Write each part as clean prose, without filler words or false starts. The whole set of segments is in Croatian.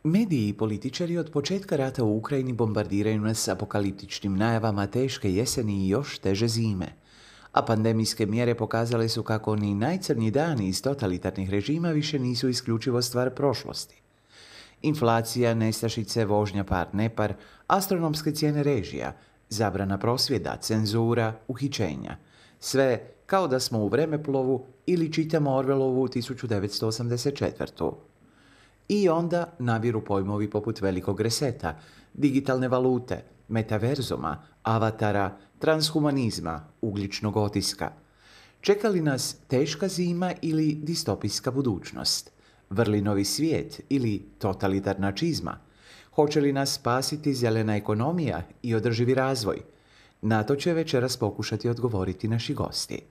Mediji i političari od početka rata u Ukrajini bombardiraju nas apokaliptičnim najavama teške jeseni i još teže zime. A pandemijske mjere pokazale su kako ni najcrnji dani iz totalitarnih režima više nisu isključivo stvar prošlosti. Inflacija, nestašice, vožnja par-nepar, astronomske cijene režija, zabrana prosvjeda, cenzura, uhićenja. Sve kao da smo u vremeplovu ili čitamo Orwellovu 1984. I onda nabiru pojmovi poput velikog reseta, digitalne valute, metaverzuma, avatara, transhumanizma, ugljičnog otiska. Čeka li nas teška zima ili distopijska budućnost? Vrlinovi svijet ili totalitarna čizma? Hoće li nas spasiti zelena ekonomija i održivi razvoj? Na to će večeras pokušati odgovoriti naši gosti.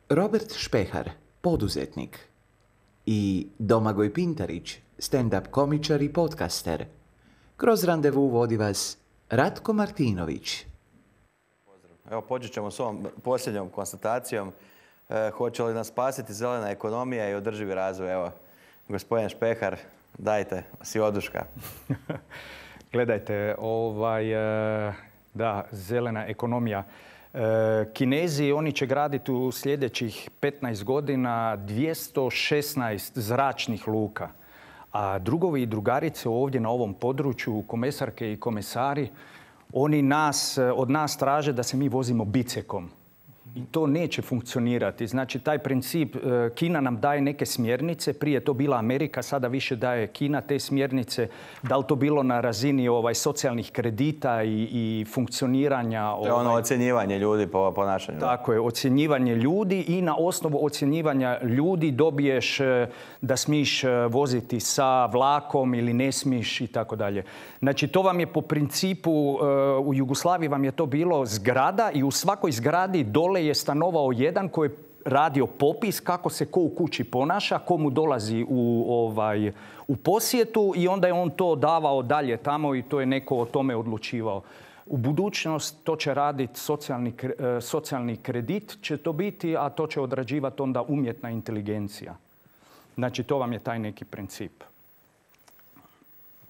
Robert Špehar, poduzetnik, i Domagoj Pintarić, stand-up komičar i podcaster. Kroz randevu vodi vas Ratko Martinović. Evo, počet ćemo s ovom posljednjom konstatacijom. Hoće li nas spasiti zelena ekonomija i održivi razvoj? Evo, gospodin Špehar, dajte si oduška. Gledajte, da, zelena ekonomija. Kinezi, oni će graditi u sljedećih 15 godina 216 zračnih luka. A drugovi i drugarice ovdje na ovom području, komesarke i komesari, oni od nas traže da se mi vozimo bicekom. I to neće funkcionirati. Znači, taj princip, Kina nam daje neke smjernice, prije to bila Amerika, sada više daje Kina te smjernice. Da li to bilo na razini socijalnih kredita i funkcioniranja? To je ono ocjenjivanje ljudi po ponašanju. Tako je, ocjenjivanje ljudi i na osnovu ocjenjivanja ljudi dobiješ da smiješ voziti sa vlakom ili ne smiješ i tako dalje. Znači, to vam je po principu, u Jugoslaviji vam je to bilo zgrada i u svakoj zgradi dole je stanovao jedan koji je radio popis kako se ko u kući ponaša, ko mu dolazi u posjetu i onda je on to davao dalje tamo i to je neko o tome odlučivao. U budućnost to će raditi socijalni kredit će to biti, a to će odrađivati onda umjetna inteligencija. Znači, to vam je taj neki princip.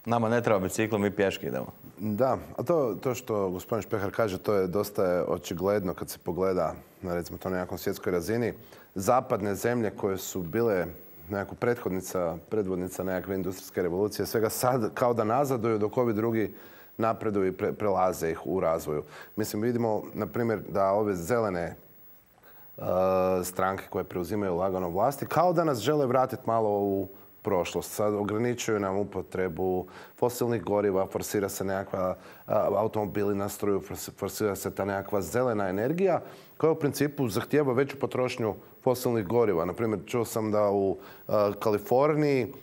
Nama ne treba biciklo, mi pješke idemo. Da, a to što gospodin Špehar kaže, to je dosta očigledno kad se pogleda na, recimo, to na nekakvom svjetskoj razini. Zapadne zemlje koje su bile nekako predvodnica nekakve industrijske revolucije, svega sad kao da nazaduju dok ovi drugi napreduju i prelaze ih u razvoju. Mislim, vidimo, na primjer, da ove zelene stranke koje preuzimaju lagano vlasti, kao da nas žele vratiti malo u prošlost. Sad ograničuju nam upotrebu fosilnih goriva, forsira se nekakva automobili na struju, forsira se ta nekakva zelena energija koja u principu zahtijeva veću potrošnju fosilnih goriva. Naprimjer, čuo sam da u Kaliforniji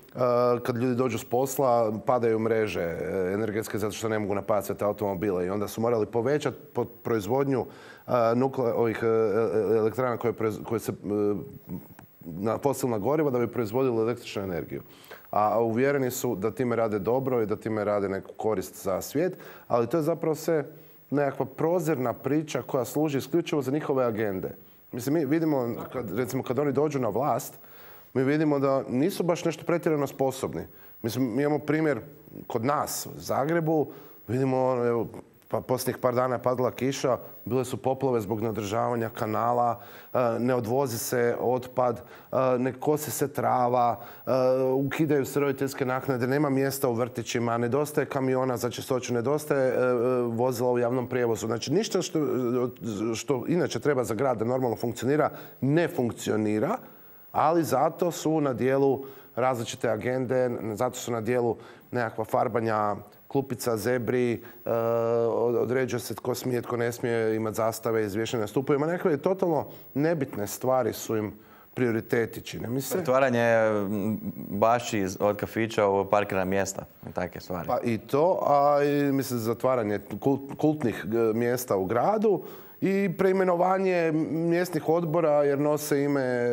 kad ljudi dođu s posla padaju mreže energetske zato što ne mogu napajati sve te automobile i onda su morali povećati proizvodnju ovih elektrana koje se na fosilna goriva da bi proizvodili električnu energiju. A uvjereni su da time rade dobro i da time rade neku korist za svijet, ali to je zapravo sve nekakva prozirna priča koja služi isključivo za njihove agende. Mislim, mi vidimo, kad oni dođu na vlast, mi vidimo da nisu baš nešto pretjerano sposobni. Mislim, mi imamo primjer kod nas u Zagrebu, vidimo, evo, pa posljednjih par dana je padala kiša, bile su poplave zbog neodržavanja kanala, ne odvozi se otpad, ne kosi se trava, ukidaju se roditeljske naknade, nema mjesta u vrtićima, nedostaje kamiona za čistoću, nedostaje vozila u javnom prijevozu. Znači, ništa što inače treba za grad da normalno funkcionira, ne funkcionira, ali zato su na dijelu različite agende, zato su na dijelu nekakva farbanja klupica, zebri, određuje se tko smije, tko ne smije imati zastave, izvješene stupovima. Nekakve totalno nebitne stvari su im prioriteti, čini mi se. Pretvaranje bašći od kafića u parkirna mjesta, takve stvari. Pa i to, a i mislim zatvaranje kultnih mjesta u gradu i preimenovanje mjesnih odbora jer nose ime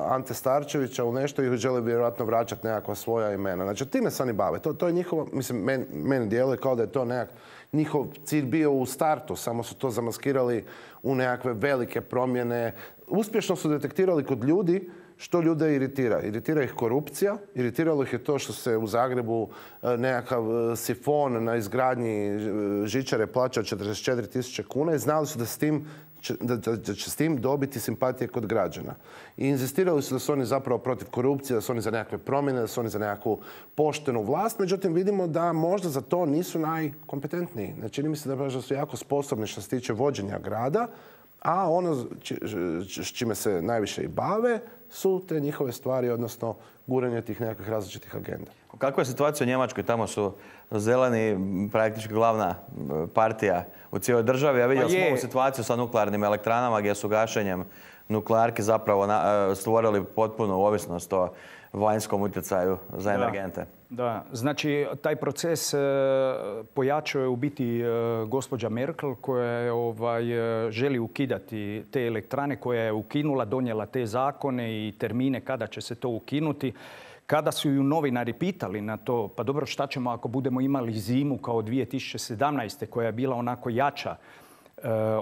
Ante Starčevića u nešto i žele vjerojatno vraćati nekakva svoja imena. Znači, time se oni bave. To je njihovo, mislim, meni djeluje kao da je to nekak njihov cilj bio u startu, samo su to zamaskirali u nekakve velike promjene. Uspješno su detektirali kod ljudi što ljude iritira? Iritira ih korupcija, iritiralo ih je to što se u Zagrebu nekakav sifon na izgradnji žičare plaća 44.000 kuna i znali su da će s tim dobiti simpatije kod građana. I inzistirali su da su oni zapravo protiv korupcije, da su oni za nekakve promjene, da su oni za nekakvu poštenu vlast. Međutim, vidimo da možda za to nisu najkompetentniji. Ne čini mi se da su jako sposobni što se tiče vođenja grada, a ono s čime se najviše i bave su te njihove stvari, odnosno guranje tih nekakvih različitih agenda. Kakva je situacija u Njemačkoj? Tamo su zeleni praktički glavna partija u cijeloj državi. Ja vidio smo ovu situaciju sa nuklearnim elektranama gdje su gašenjem nuklearki zapravo stvorili potpunu ovisnost o vanjskom utjecaju za energente. Da, znači taj proces pojačao je u biti gospođa Merkel koja želi ukidati te elektrane, koja je ukinula, donijela te zakone i termine kada će se to ukinuti. Kada su ju novinari pitali na to, pa dobro, šta ćemo ako budemo imali zimu kao 2017. koja je bila onako jača,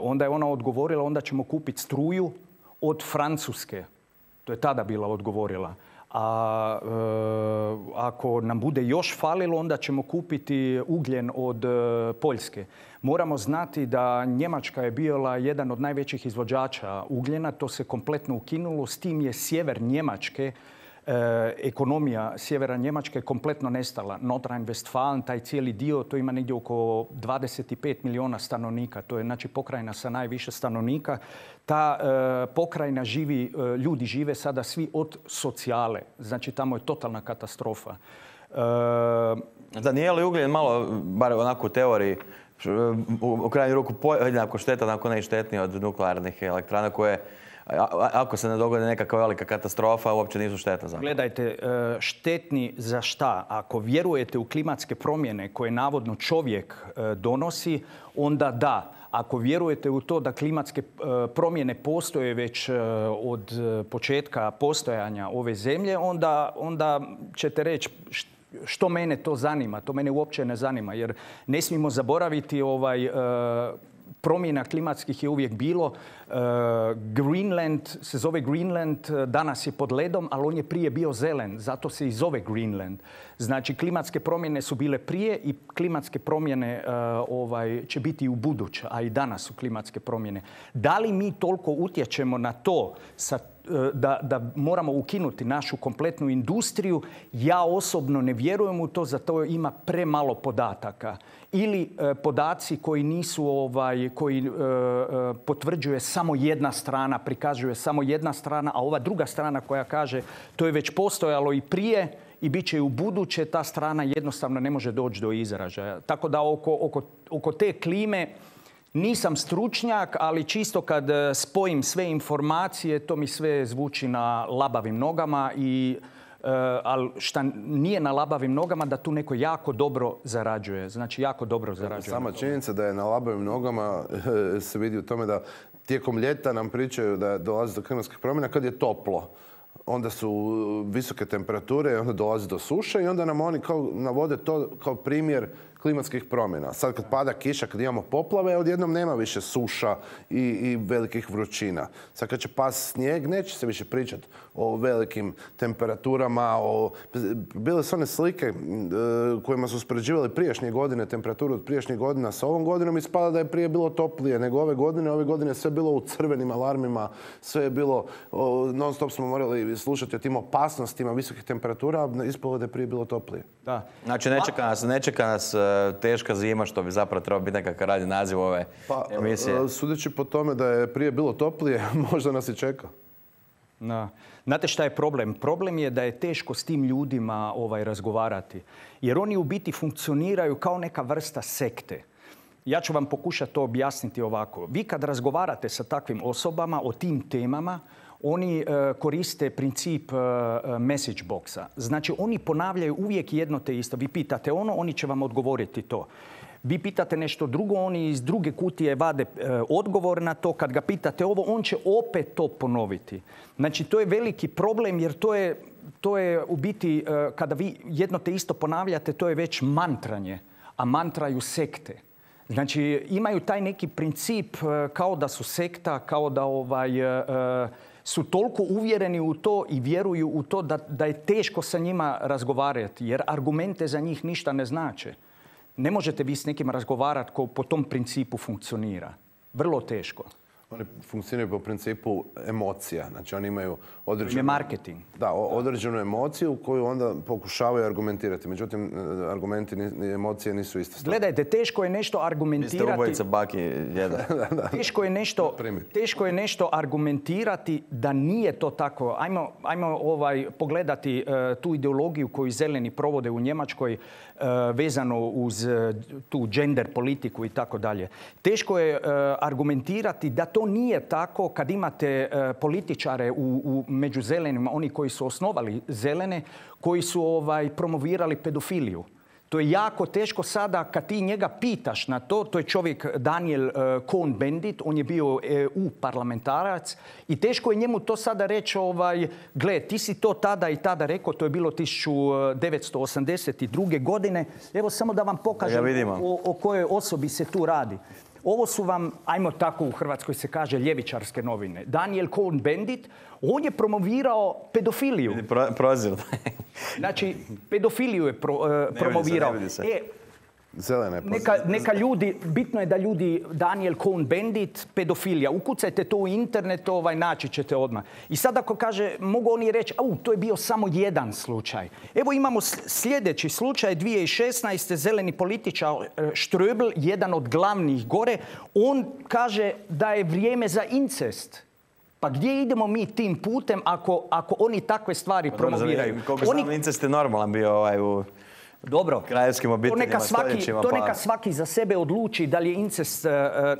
onda je ona odgovorila, onda ćemo kupiti struju od Francuske. To je tada bila odgovorila. A ako nam bude još falilo, onda ćemo kupiti ugljen od Poljske. Moramo znati da Njemačka je bila jedan od najvećih izvođača ugljena. To se kompletno ukinulo. S tim je sjever Njemačke, ekonomija sjevera Njemačke kompletno nestala. Nordrhein-Westfalen, taj cijeli dio, to ima negdje oko 25 milijuna stanovnika. To je znači pokrajina sa najviše stanovnika. Ta pokrajina ljudi žive sada svi od socijale. Znači tamo je totalna katastrofa. Da nije li ugljen malo, bar onako u teoriji, u krajnju ruku jednako štetan, ako ne i štetniji od nuklearnih elektrana koje, ako se ne dogodi nekakva velika katastrofa, uopće nisu šteta za. Gledajte, štetni za šta? Ako vjerujete u klimatske promjene koje navodno čovjek donosi, onda da. Ako vjerujete u to da klimatske promjene postoje već od početka postojanja ove zemlje, onda ćete reći što mene to zanima. To mene uopće ne zanima, jer ne smijemo zaboraviti promjena klimatskih je uvijek bilo. Greenland se zove Greenland, danas je pod ledom, ali on je prije bio zelen, zato se i zove Greenland. Znači, klimatske promjene su bile prije i klimatske promjene će biti i u buduće, a i danas su klimatske promjene. Da li mi toliko utječemo na to da moramo ukinuti našu kompletnu industriju? Ja osobno ne vjerujem u to, zato ima premalo podataka. Ili podaci koji nisu, koji potvrđuje samo jedna strana, prikazuje samo jedna strana, a ova druga strana koja kaže to je već postojalo i prije i bit će i u buduće, ta strana jednostavno ne može doći do izražaja. Tako da oko te klime nisam stručnjak, ali čisto kad spojim sve informacije, to mi sve zvuči na labavim nogama ali šta nije na labavim nogama, da tu neko jako dobro zarađuje. Znači, jako dobro zarađuje. Sama činjenica da je na labavim nogama se vidi u tome da tijekom ljeta nam pričaju da dolazi do klimatskih promjena kad je toplo. Onda su visoke temperature, onda dolazi do suše i onda nam oni navode to kao primjer klimatskih promjena. Sad kad pada kiša, kad imamo poplave, odjednom nema više suša i velikih vrućina. Sad kad će pasti snijeg, neće se više pričati o velikim temperaturama. Bile su one slike kojima su uspoređivali prijašnje godine, temperaturu od prijašnjih godina sa ovom godinom, ispada da je prije bilo toplije nego ove godine. Ove godine sve bilo u crvenim alarmima, sve je bilo, non stop smo morali slušati o tim opasnostima visokih temperatura, ispalo da je prije bilo toplije. Da. Znači, ne čeka nas teška zima, što bi zapravo trebao biti nekakav radni naziv ove emisije. Sudeći po tome da je prije bilo toplije, možda nas i čeka. Da. Znate šta je problem? Problem je da je teško s tim ljudima razgovarati. Jer oni u biti funkcioniraju kao neka vrsta sekte. Ja ću vam pokušati to objasniti ovako. Vi kad razgovarate sa takvim osobama o tim temama, oni koriste princip message boxa. Znači, oni ponavljaju uvijek jedno te isto. Vi pitate ono, oni će vam odgovoriti to. Vi pitate nešto drugo, oni iz druge kutije vade odgovor na to. Kad ga pitate ovo, on će opet to ponoviti. Znači, to je veliki problem jer to je u biti, kada vi jedno te isto ponavljate, to je već mantranje, a mantraju sekte. Znači, imaju taj neki princip kao da su sekta, kao da su toliko uvjereni u to i vjeruju u to da je teško sa njima razgovarati, jer argumente za njih ništa ne znače. Ne možete vi s nekim razgovarati ko po tom principu funkcionira. Vrlo teško. Oni funkcioniraju po principu emocija. Znači oni imaju određenu... Je marketing. Da, određenu emociju koju onda pokušavaju argumentirati. Međutim, argumenti i emocije nisu iste stvari. Gledajte, teško je nešto argumentirati... Vi ste ubojica baki jedan. Teško je nešto argumentirati da nije to tako. Ajmo pogledati tu ideologiju koju zeleni provode u Njemačkoj vezano uz tu gender politiku i tako dalje. Teško je argumentirati da to nije tako kad imate političare među zelenima, oni koji su osnovali zelene, koji su promovirali pedofiliju. To je jako teško sada kad ti njega pitaš na to. To je čovjek Daniel Cohn-Bendit, on je bio EU parlamentarac i teško je njemu to sada reći, gle, ti si to tada i tada rekao, to je bilo 1982. godine. Evo samo da vam pokažem o kojoj osobi se tu radi. Ovo su vam, ajmo tako u Hrvatskoj se kaže, ljevičarske novine. Daniel Cohn-Bendit, on je promovirao pedofiliju. Prozir. Znači, pedofiliju je promovirao. Neka ljudi, bitno je da ljudi, Daniel Cohn-Bendit, pedofilija, ukucajte to u internet, naći ćete odmah. I sad ako kaže, mogu oni reći, to je bio samo jedan slučaj. Evo imamo sljedeći slučaj, 2016. zeleni političar Ströbel, jedan od glavnih gore, on kaže da je vrijeme za incest. Pa gdje idemo mi tim putem ako oni takve stvari promoviraju? Koliko znam, incest je normalan bio u... Dobro, kraljevskim obiteljima stoljećima. To neka svaki za sebe odluči da li je incest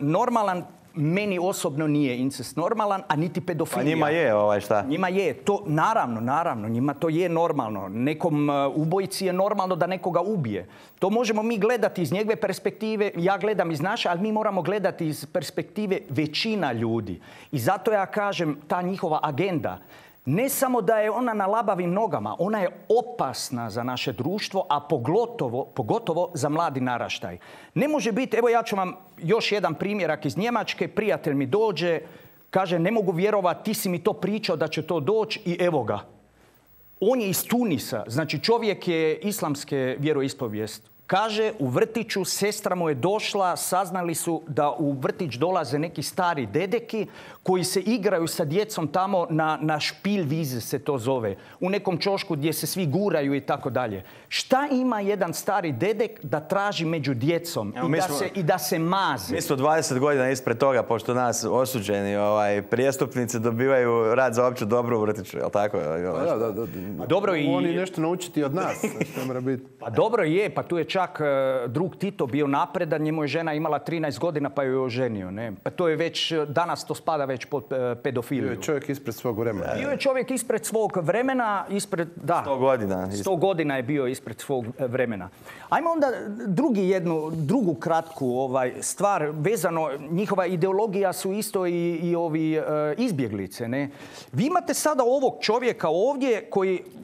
normalan. Meni osobno nije incest normalan, a niti pedofilija. Pa njima je šta? Njima je. To, naravno, njima to je normalno. Nekom ubojici je normalno da nekoga ubije. To možemo mi gledati iz njegove perspektive, ja gledam iz naše, ali mi moramo gledati iz perspektive većina ljudi. I zato ja kažem, ta njihova agenda, ne samo da je ona na labavim nogama, ona je opasna za naše društvo, a pogotovo za mladi naraštaj. Ne može biti, evo ja ću vam još jedan primjerak iz Njemačke, prijatelj mi dođe, kaže ne mogu vjerovati, ti si mi to pričao da će to doći i evo ga. On je iz Tunisa, znači čovjek je islamske vjeroispovijesti. Kaže, u vrtiću sestra mu je došla, saznali su da u vrtić dolaze neki stari dedeki koji se igraju sa djecom tamo na Špilwiese se to zove. U nekom čošku gdje se svi guraju i tako dalje. Šta ima jedan stari dedek da traži među djecom i da se maze? Mi smo 20 godina ispred toga, pošto nas osuđeni prijestupnici dobivaju rad za opće dobro u vrtiću, je li tako? Dobro, oni nešto naučiti od nas. Pa dobro je, pa tu je čak drug Tito bio napredan, njemu je žena imala 13 godina pa ju je oženio. Ne? Pa to je već, danas to spada već pod pedofiliju. Bio je čovjek ispred svog vremena. Bio je čovjek ispred svog vremena, 100 godina. 100 godina je bio ispred svog vremena. Ajmo onda drugu kratku stvar vezano, njihova ideologija su isto i ovi izbjeglice. Ne? Vi imate sada ovog čovjeka ovdje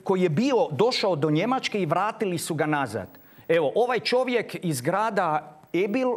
koji je došao do Njemačke i vratili su ga nazad. Evo, ovaj čovjek iz grada Erbil,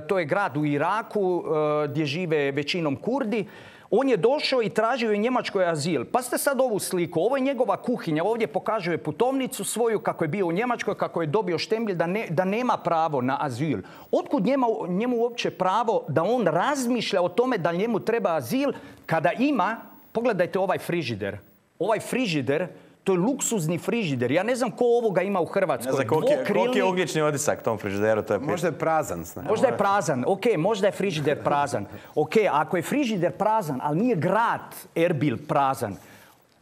to je grad u Iraku gdje žive većinom Kurdi, on je došao i tražio u Njemačkoj azil. Pa ste sad ovu sliku, ovo je njegova kuhinja, ovdje pokazuje putovnicu svoju kako je bio u Njemačkoj, kako je dobio štembilj da nema pravo na azil. Otkud njemu uopće pravo da on razmišlja o tome da njemu treba azil kada ima, pogledajte ovaj frižider. Ovaj frižider, to je luksuzni frižider. Ja ne znam ko ovoga ima u Hrvatskoj. Ne znam koliki je ugljični otisak tom frižideru. Možda je prazan. Možda je prazan. Ok, možda je frižider prazan. Ok, ako je frižider prazan, ali nije grad Erbil prazan.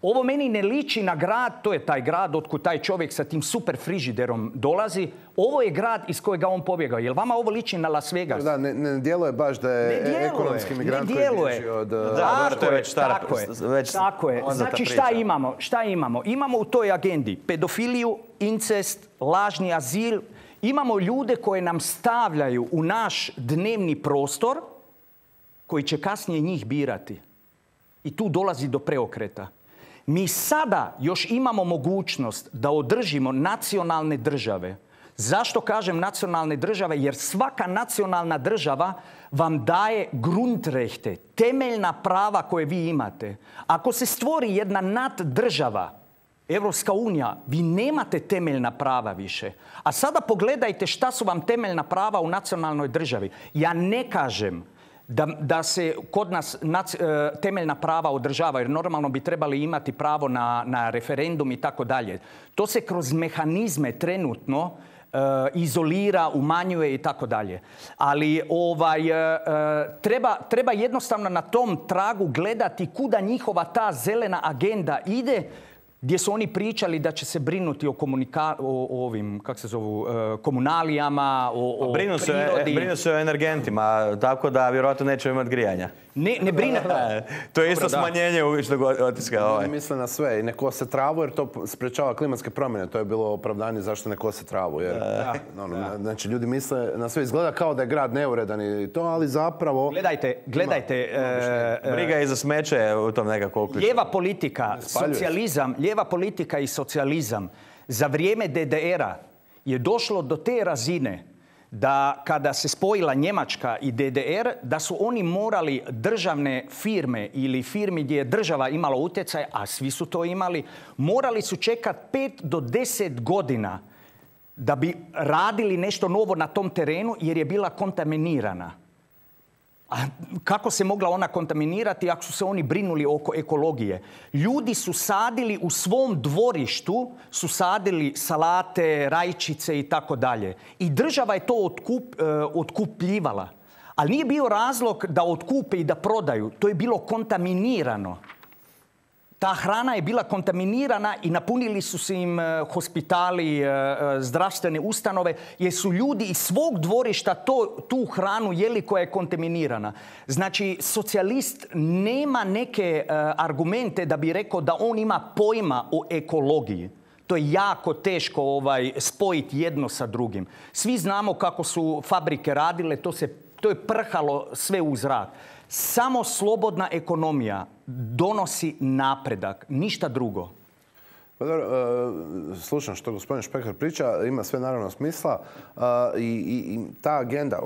Ovo meni ne liči na grad, to je taj grad otkud taj čovjek sa tim super frižiderom dolazi. Ovo je grad iz kojega on pobjegao. Jel vama ovo liči na Las Vegas? Da, ne djeluje baš da je ekonomski migrant koji bježi od... Tako je. Znači šta imamo? Imamo u toj agendi pedofiliju, incest, lažni azil. Imamo ljude koje nam stavljaju u naš dnevni prostor koji će kasnije njih birati. I tu dolazi do preokreta. Mi sada još imamo mogućnost da održimo nacionalne države Zašto kažem nacionalne države? Jer svaka nacionalna država vam daje Grundrechte, temeljna prava koje vi imate. Ako se stvori jedna naddržava, Evropska unija, vi nemate temeljna prava više. A sada pogledajte šta su vam temeljna prava u nacionalnoj državi. Ja ne kažem da se kod nas temeljna prava održavaju, jer normalno bi trebali imati pravo na referendum i tako dalje. To se kroz mehanizme trenutno izolira, umanjuje i tako dalje. Ali treba jednostavno na tom tragu gledati kuda njihova ta zelena agenda ide, gdje su oni pričali da će se brinuti o ovim, kako se zovu, komunalijama, o prirodi. Brinu se o energentima, tako da vjerojatno neće imati grijanja. Ne brine. To je isto smanjenje ugljičnog otiska. Ne misle na sve i ne kose travu jer to sprečava klimatske promjene. To je bilo opravdanje zašto ne kose travu. Znači ljudi misle na sve. Izgleda kao da je grad neuredan i to, ali zapravo... Gledajte. Briga i za smeće u tom nekako uključu. Lijeva politika i socijalizam za vrijeme DDR-a je došlo do te razine da kada se spojila Njemačka i DDR, da su oni morali državne firme ili firmi gdje je država imala utjecaj, a svi su to imali, morali su čekati 5 do 10 godina da bi radili nešto novo na tom terenu jer je bila kontaminirana. A kako se mogla ona kontaminirati ako su se oni brinuli oko ekologije? Ljudi su sadili u svom dvorištu, su sadili salate, rajčice i tako dalje. I država je to otkupljivala. Ali nije bio razlog da otkupe i da prodaju. To je bilo kontaminirano. Ta hrana je bila kontaminirana i napunili su se im hospitali, zdravstvene ustanove, jer su ljudi iz svog dvorišta tu hranu jeli koja je kontaminirana. Znači, socijalist nema neke argumente da bi rekao da on ima pojma o ekologiji. To je jako teško spojiti jedno sa drugim. Svi znamo kako su fabrike radile, to je prhalo sve u zrak. Samo slobodna ekonomija donosi napredak, ništa drugo. Pa dobro, slušam što gospodin Špehar priča, ima sve naravno smisla i ta agenda,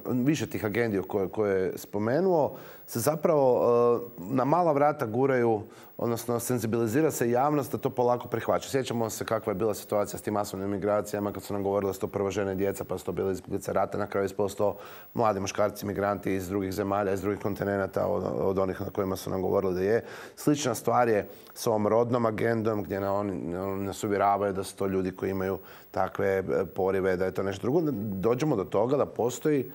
više tih agendi koje je spomenuo, se zapravo na mala vrata guraju, odnosno senzibilizira se javnost da to polako prihvaća. Sjećamo se kakva je bila situacija s tim masovnim migracijama kad su nam govorili da su to prvo žene i djeca, pa su to bili izbjeglice rata, na kraju ispalo to mladi muškarci migranti iz drugih zemalja, iz drugih kontinenata od onih na kojima su nam govorili da je. Slična stvar je s ovom rodnom agendom gdje oni nas uvjeravaju da su to ljudi koji imaju takve porive, da je to nešto drugo. Dođemo do toga da postoji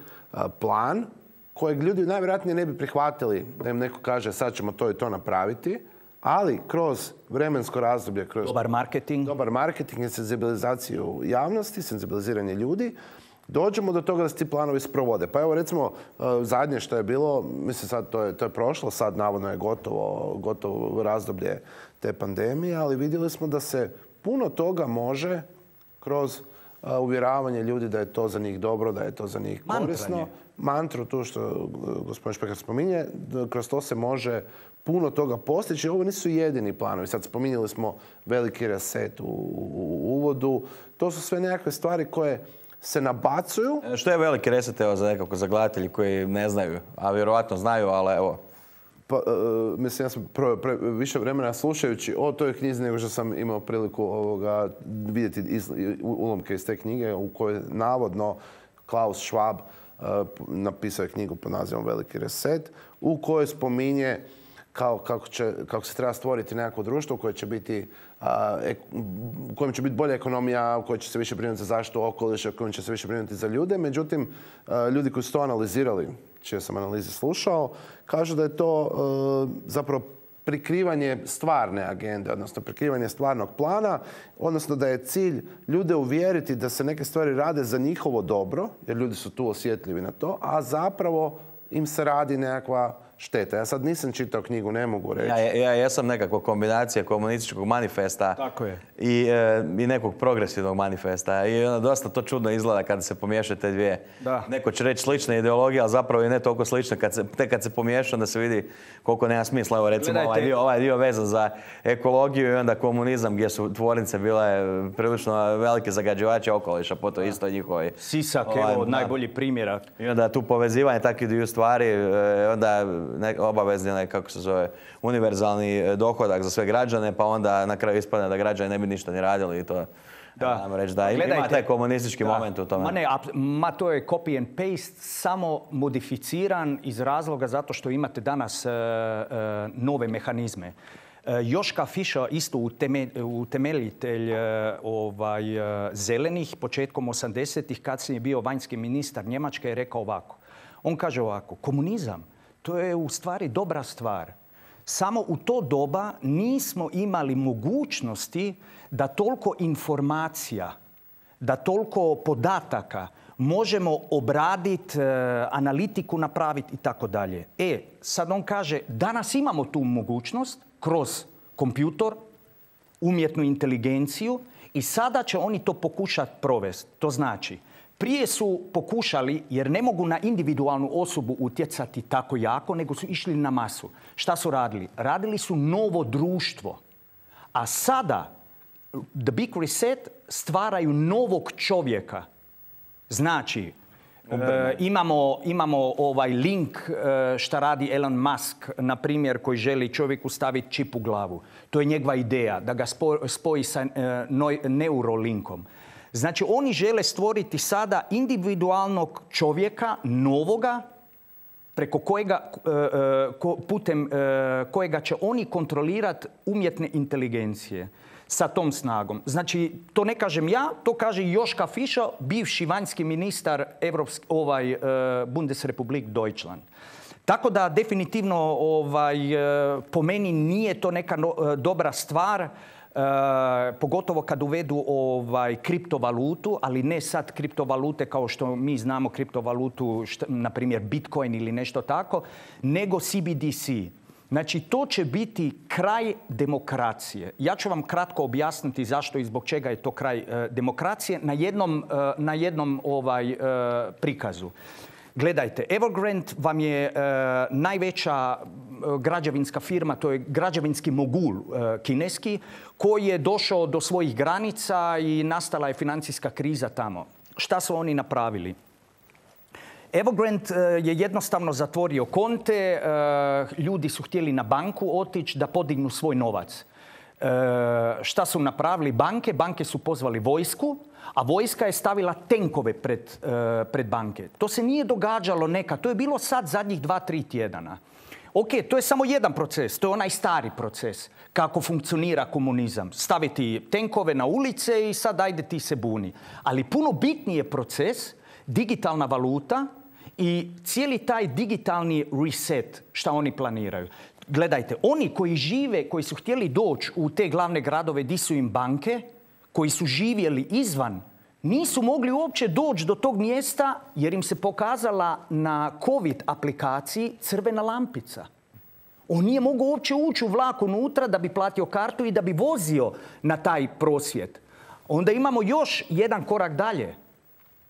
plan kojeg ljudi najvjerojatnije ne bi prihvatili da im neko kaže sad ćemo to i to napraviti, ali kroz vremensko razdoblje, kroz dobar marketing i senzibilizaciju javnosti, senzibiliziranje ljudi, dođemo do toga da se ti planovi sprovode. Pa evo recimo zadnje što je bilo, mislim sad to je prošlo, sad navodno je gotovo razdoblje te pandemije, ali vidjeli smo da se puno toga može kroz uvjeravanje ljudi da je to za njih dobro, da je to za njih korisno. Mantru, tu što gospodin Špehar spominje, kroz to se može puno toga postići. Ovo nisu jedini planovi. Sad spominjali smo veliki reset u uvodu. To su sve nekakve stvari koje se nabacuju. Što je veliki reset za gledatelji koji ne znaju, a vjerojatno znaju, ali evo. Pa, mislim, ja sam više vremena slušajući o toj knjizi nego što sam imao priliku vidjeti ulomke iz te knjige u kojoj navodno Klaus Schwab napisao je knjigu pod nazivom Veliki reset, u kojoj spominje kako se treba stvoriti nekako društvo koje će biti, u kojem će biti bolja ekonomija, u kojoj će se više brinuti za zaštitu okoliša, u kojem će se više brinuti za ljude. Međutim, ljudi koji su to analizirali, čije sam analize slušao, kažu da je to zapravo prikrivanje stvarne agende, odnosno prikrivanje stvarnog plana, odnosno da je cilj ljude uvjeriti da se neke stvari rade za njihovo dobro, jer ljudi su tu osjetljivi na to, a zapravo im se radi nekakva šteta. Ja sad nisam čitao knjigu, ne mogu reći. Ja jesam nekakva kombinacija komunističkog manifesta i nekog progresivnog manifesta. I dosta to čudno izgleda kada se pomiješaju te dvije. Neko će reći slične ideologije, ali zapravo i ne toliko slične. Tek kad se pomiješa, onda se vidi koliko nema smisla. Evo recimo ovaj dio vezan za ekologiju i onda komunizam gdje su tvornice bile prilično velike zagađivače okoliša po to isto njihovoj. Sisak, evo od najboljih primjera. I onda tu povezivanje takvih dviju stvari, onda obavezni kako se zove, univerzalni dohodak za sve građane, pa onda na kraju ispadne da građani ne bi ništa ni radili i to. Ima taj komunistički moment u tome. To je copy and paste, samo modificiran iz razloga zato što imate danas nove mehanizme. Joschka Fischer, isto utemeljitelj zelenih, početkom 80-ih, kad je bio vanjski ministar Njemačke, je rekao ovako. On kaže ovako, komunizam, to je u stvari dobra stvar. Samo u to doba nismo imali mogućnosti da toliko informacija, da toliko podataka možemo obraditi, analitiku napraviti i tako dalje. Sad on kaže, danas imamo tu mogućnost kroz kompjutor, umjetnu inteligenciju i sada će oni to pokušati provesti. To znači, prije su pokušali, jer ne mogu na individualnu osobu utjecati tako jako, nego su išli na masu. Šta su radili? Radili su novo društvo. A sada, The Big Reset, stvaraju novog čovjeka. Znači, imamo ovaj link šta radi Elon Musk, na primjer, koji želi čovjeku staviti čip u glavu. To je njegova ideja, da ga spoji sa neurolinkom. Znači, oni žele stvoriti sada individualnog čovjeka, novoga, preko kojega, putem kojega će oni kontrolirati umjetne inteligencije sa tom snagom. Znači, to ne kažem ja, to kaže Joschka Fischer, bivši vanjski ministar Bundesrepublik Deutschland. Tako da definitivno po meni nije to neka dobra stvar, pogotovo kad uvedu kriptovalutu, ali ne sad kriptovalute kao što mi znamo kriptovalutu, na primjer Bitcoin ili nešto tako, nego CBDC. Znači, to će biti kraj demokracije. Ja ću vam kratko objasniti zašto i zbog čega je to kraj demokracije na jednom prikazu. Gledajte, Evergrande vam je najveća građevinska firma, to je građevinski mogul kineski, koji je došao do svojih granica i nastala je financijska kriza tamo. Šta su oni napravili? Evergrande je jednostavno zatvorio konte, ljudi su htjeli na banku otići da podignu svoj novac. Šta su napravili banke? Banke su pozvali vojsku, a vojska je stavila tenkove pred banke. To se nije događalo nekad, to je bilo sad zadnjih 2-3 tjedana. Ok, to je samo jedan proces, to je onaj stari proces, kako funkcionira komunizam. Staviti tenkove na ulice i sad ajde ti se buni. Ali puno bitniji je proces, digitalna valuta i cijeli taj digitalni reset, šta oni planiraju. Gledajte, oni koji žive, koji su htjeli doći u te glavne gradove gdje su im banke, koji su živjeli izvan, nisu mogli uopće doći do tog mjesta jer im se pokazala na COVID aplikaciji crvena lampica. On nije mogao uopće ući u vlak unutra da bi platio kartu i da bi vozio na taj prosvjed. Onda imamo još jedan korak dalje.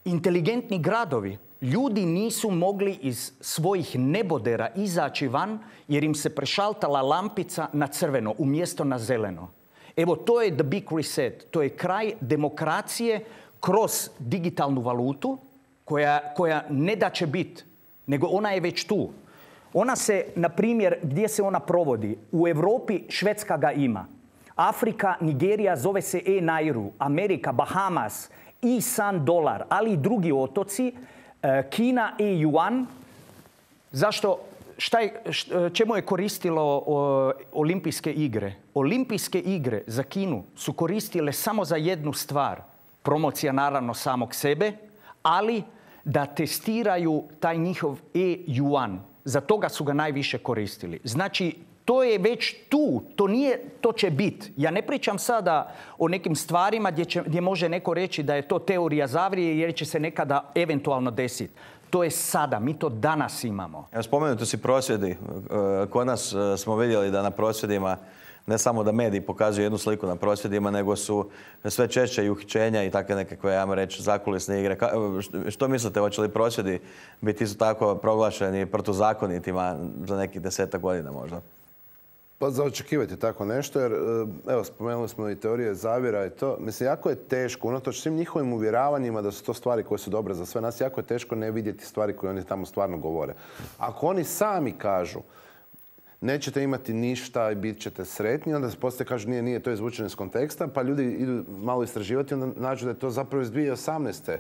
Inteligentni gradovi. Ljudi nisu mogli iz svojih nebodera izaći van jer im se prešaltala lampica na crveno umjesto na zeleno. Evo, to je the big reset. To je kraj demokracije kroz digitalnu valutu koja ne da će biti, nego ona je već tu. Ona se, na primjer, gdje se ona provodi? U Europi Švedska ga ima. Afrika, Nigerija zove se Nairu. Amerika, Bahamas, San dolar, ali i drugi otoci. Kina yuan. Zašto? Čemu je koristilo olimpijske igre? Olimpijske igre za Kinu su koristile samo za jednu stvar. Promocija naravno samog sebe, ali da testiraju taj njihov yuan. Za toga su ga najviše koristili. Znači, to je već tu. To će biti. Ja ne pričam sada o nekim stvarima gdje može neko reći da je to teorija zavjere jer će se nekada eventualno desiti. To je sada, mi to danas imamo. Spomenuti si prosvjedi. Kod nas smo vidjeli da na prosvjedima, ne samo da mediji pokazuju jednu sliku na prosvjedima, nego su sve češće i uhićenja i takve nekakve, ajmo reći, zakulisne igre. Što mislite, hoće li prosvjedi biti isto tako proglašeni protuzakonitima za nekih 10 godina možda? Pa za očekivati tako nešto, jer evo, spomenuli smo i teorije zavjera i to. Mislim, jako je teško, unatoč svim njihovim uvjeravanjima da su to stvari koje su dobre za sve nas, jako je teško ne vidjeti stvari koje oni tamo stvarno govore. Ako oni sami kažu nećete imati ništa i bit ćete sretni, onda se poslije kažu nije, to je izvučeno iz konteksta, pa ljudi idu malo istraživati, onda nađu da je to zapravo iz 2018.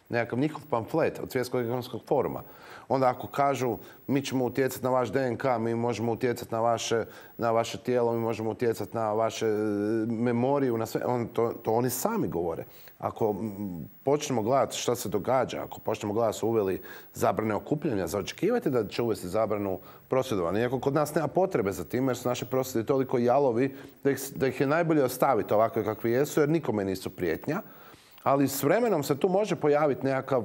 nekakav njihov pamflet od Svjetskog ekonomskog foruma. Onda ako kažu mi ćemo utjecati na vaš DNK, mi možemo utjecati na vaše tijelo, mi možemo utjecati na vaše memoriju, na sve, to oni sami govore. Ako počnemo gledati šta se događa, ako počnemo gledati da su uveli zabrane okupljanja, za očekivati da će uvesti zabranu prosvjedovanja. Iako kod nas nema potrebe za tim, jer su naši prosvjedi toliko jalovi da ih je najbolje ostaviti ovakve kakvi jesu, jer nikome nisu prijetnja. Ali s vremenom se tu može pojaviti nekakva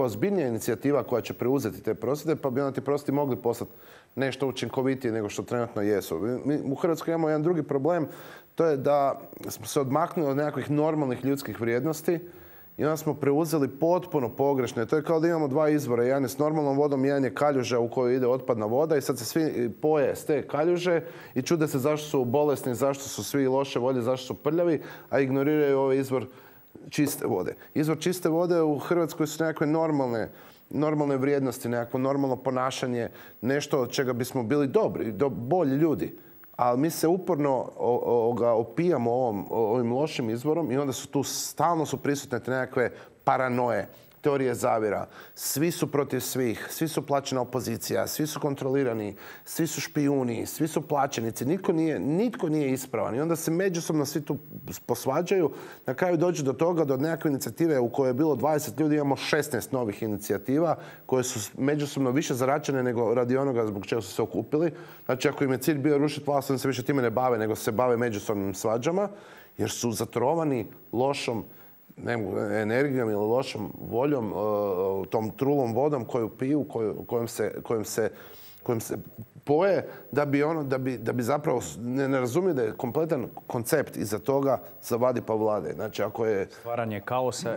ozbiljnija inicijativa koja će preuzeti te prosvjede, pa bi onda ti prosvjedi mogli postati nešto učinkovitije nego što trenutno jesu. Mi u Hrvatskoj imamo jedan drugi problem, to je da smo se odmaknuli od nekakvih normalnih ljudskih vrijednosti i onda smo preuzeli potpuno pogrešne. To je kao da imamo dva izvora, jedan je s normalnom vodom, jedan je kaljuža u kojoj ide otpadna voda i sad se svi poje s te kaljuže i čude se zašto su bolesni, zašto su svi loše volje, zašto su prljavi, a ignoriraju ovaj izvor čiste vode. Izvor čiste vode u Hrvatskoj su nekakve normalne vrijednosti, nekakvo normalno ponašanje, nešto od čega bismo bili dobri, bolji ljudi. Ali mi se uporno opijamo ovim lošim izvorom i onda su tu stalno prisutne te nekakve paranoje, teorije zavjera. Svi su protiv svih, svi su plaćena opozicija, svi su kontrolirani, svi su špijuni, svi su plaćenici, nitko nije ispravan. I onda se međusobno svi tu posvađaju. Na kraju dođe do toga, do nekakve inicijative u kojoj je bilo 20 ljudi, imamo 16 novih inicijativa koje su međusobno više zaračene nego radi onoga zbog čega su se okupili. Znači, ako im je cilj bio rušiti vlast, oni se više time ne bave, nego se bave međusobnim svađama, jer su zatrovani lošom energijom ili lošom voljom, tom trulom vodom koju piju, kojom se poje, da bi zapravo ne razumiju da je kompletan koncept iza toga zavadi pa vlade. Znači, ako je stvaranje kaosa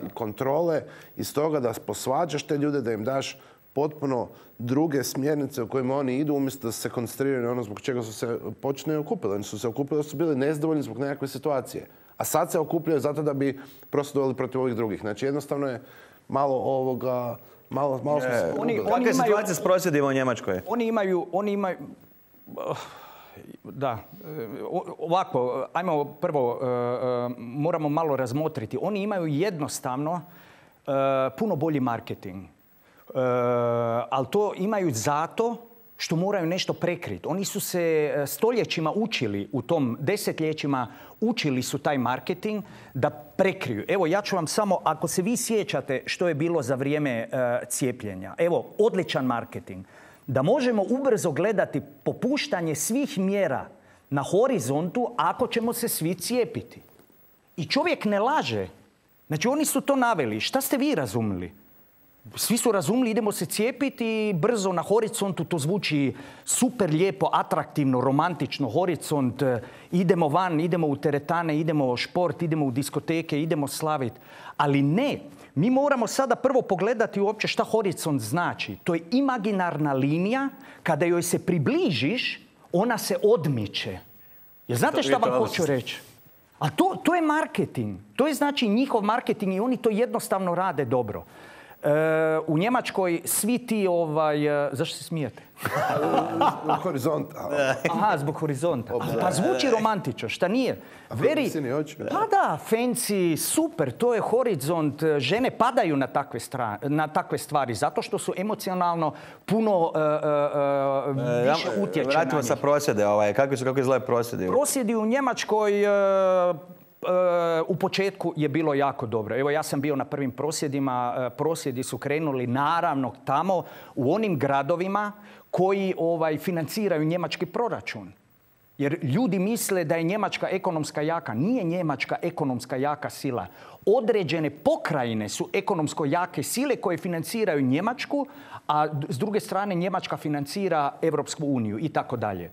i kontrole iz toga da posvađaš te ljude, da im daš potpuno druge smjernice u kojima oni idu umjesto da se koncentriraju na ono zbog čega su se počeli okupili. Oni su se okupili da su bili nezadovoljni zbog nekakve situacije. A sad se okupljaju zato da bi prosvjedovali protiv ovih drugih. Znači, jednostavno je malo ovoga... Kakva je situacija s prosvjedima u Njemačkoj? Oni imaju... Da. Ovako, ajmo prvo, moramo malo razmotriti. Oni imaju jednostavno puno bolji marketing. Ali to imaju zato što moraju nešto prekriti. Oni su se stoljećima učili, u tom desetljećima učili su taj marketing da prekriju. Evo, ja ću vam samo, ako se vi sjećate što je bilo za vrijeme cijepljenja. Evo, odličan marketing. Da možemo ubrzo gledati popuštanje svih mjera na horizontu ako ćemo se svi cijepiti. I čovjek ne laže. Znači, oni su to naveli. Šta ste vi razumili? Svi su razumili, idemo se cijepiti i brzo na horizontu, to zvuči super lijepo, atraktivno, romantično, horizont, idemo van, idemo u teretane, idemo u šport, idemo u diskoteke, idemo slaviti. Ali ne, mi moramo sada prvo pogledati uopće šta horizont znači. To je imaginarna linija, kada joj se približiš, ona se odmiče. Jer znate šta vam hoću reći? A to je marketing. To je znači njihov marketing i oni to jednostavno rade dobro. U Njemačkoj svi ti, zašto se smijete? Zbog horizonta. Aha, zbog horizonta. Pa zvuči romantično, šta nije? Pa da, fancy, super, to je horizont. Žene padaju na takve stvari, zato što su emocionalno puno više utječene. Vratimo sa prosvjede, kako izgledaju prosvjedi? Prosvjedi u Njemačkoj... U početku je bilo jako dobro. Evo, ja sam bio na prvim prosvjedima. Prosvjedi su krenuli naravno tamo u onim gradovima koji financiraju njemački proračun. Jer ljudi misle da je Njemačka ekonomska jaka. Nije Njemačka ekonomska jaka sila. Određene pokrajine su ekonomsko jake sile koje financiraju Njemačku, a s druge strane Njemačka financira Europsku uniju i tako dalje.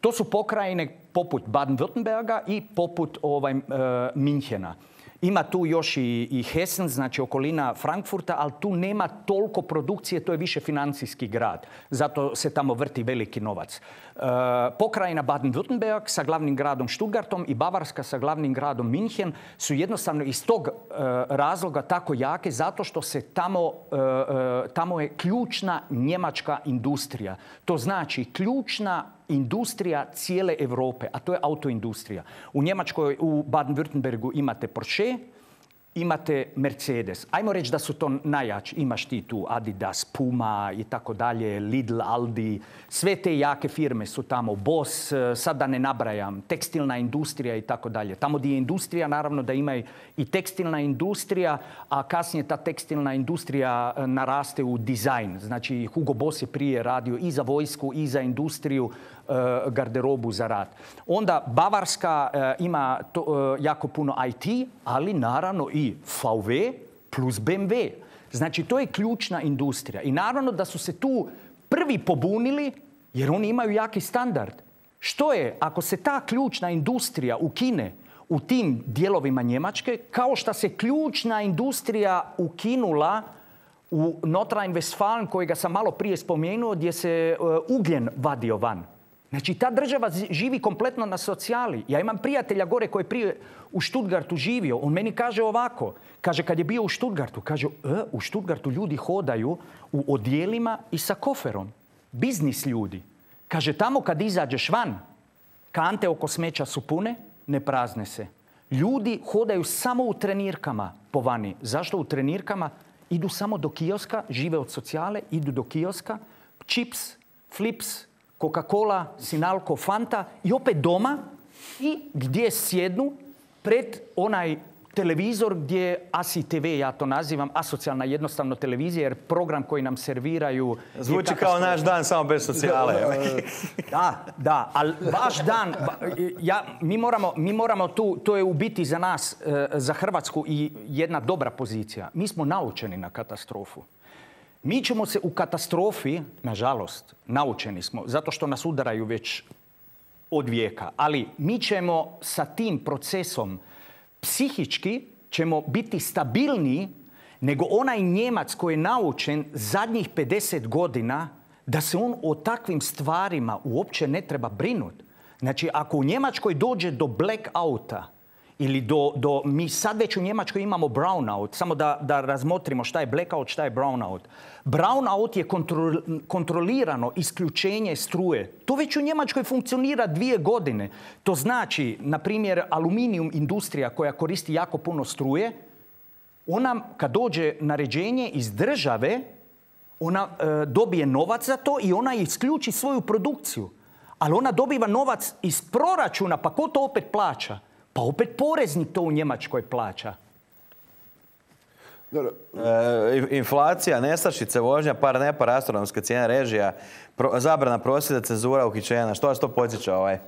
To su pokrajine poput Baden-Württemberga i poput Minhena. Ima tu još i Hessen, znači okolina Frankfurta, ali tu nema toliko produkcije, to je više financijski grad. Zato se tamo vrti veliki novac. Pokrajina Baden-Württemberg sa glavnim gradom Stuttgartom i Bavarska sa glavnim gradom Minhen su jednostavno iz tog razloga tako jake zato što se tamo je ključna njemačka industrija. To znači ključna industrija cijele Europe, a to je autoindustrija. U Njemačkoj, u Baden-Württembergu imate Porsche, imate Mercedes. Ajmo reći da su to najjači. Imaš ti tu Adidas, Puma i tako dalje, Lidl, Aldi. Sve te jake firme su tamo. Boss, sad da ne nabrajam, tekstilna industrija i tako dalje. Tamo gdje je industrija, naravno da ima i tekstilna industrija, a kasnije ta tekstilna industrija naraste u dizajn. Znači, Hugo Boss je prije radio i za vojsku i za industriju, garderobu za rad. Onda Bavarska ima jako puno IT, ali naravno i VW plus BMW. Znači, to je ključna industrija. I naravno da su se tu prvi pobunili jer oni imaju jaki standard. Što je ako se ta ključna industrija ukine u tim dijelovima Njemačke, kao što se ključna industrija ukinula u Nordrhein-Westfalen, kojega sam malo prije spomenuo, gdje se ugljen vadio van. Znači, ta država živi kompletno na socijali. Ja imam prijatelja gore koji je prije u Stuttgartu živio. On meni kaže ovako. Kaže, kad je bio u Stuttgartu, kaže, u Stuttgartu ljudi hodaju u odjelima i sa koferom. Biznis ljudi. Kaže, tamo kad izađeš van, kante oko smeća su pune, ne prazne se. Ljudi hodaju samo u trenirkama po vani. Zašto u trenirkama? Idu samo do kioska, žive od socijale, idu do kioska, čips, flips, Coca-Cola, Sinalco, Fanta i opet doma i gdje sjednu pred onaj televizor gdje ASI TV, ja to nazivam, asocijalna jednostavno televizija, jer program koji nam serviraju... Zvuči kao naš dan, samo bez socijale. Da, ali vaš dan, mi moramo tu, to je u biti za nas, za Hrvatsku i jedna dobra pozicija. Mi smo naučeni na katastrofu. Mi ćemo se u katastrofi, nažalost, naučeni smo, zato što nas udaraju već od vijeka, ali mi ćemo sa tim procesom psihički ćemo biti stabilniji nego onaj Njemac koji je naučen zadnjih 50 godina da se on o takvim stvarima uopće ne treba brinuti. Znači, ako u Njemačkoj dođe do blackouta ili mi sad već u Njemačkoj imamo brownout, samo da razmotrimo šta je blackout, šta je brownout. Brownout je kontrolirano isključenje struje. To već u Njemačkoj funkcionira 2 godine. To znači, na primjer, aluminijum industrija koja koristi jako puno struje, ona kad dođe naređenje iz države, ona dobije novac za to i ona isključi svoju produkciju. Ali ona dobiva novac iz proračuna, pa ko to opet plaća? Pa opet poreznik to u Njemačkoj plaća. Inflacija, nestašice, vožnja, par astronomske cijene režija, zabrana prosvjeda, cenzura, uhićenja. Što vas to podsjeća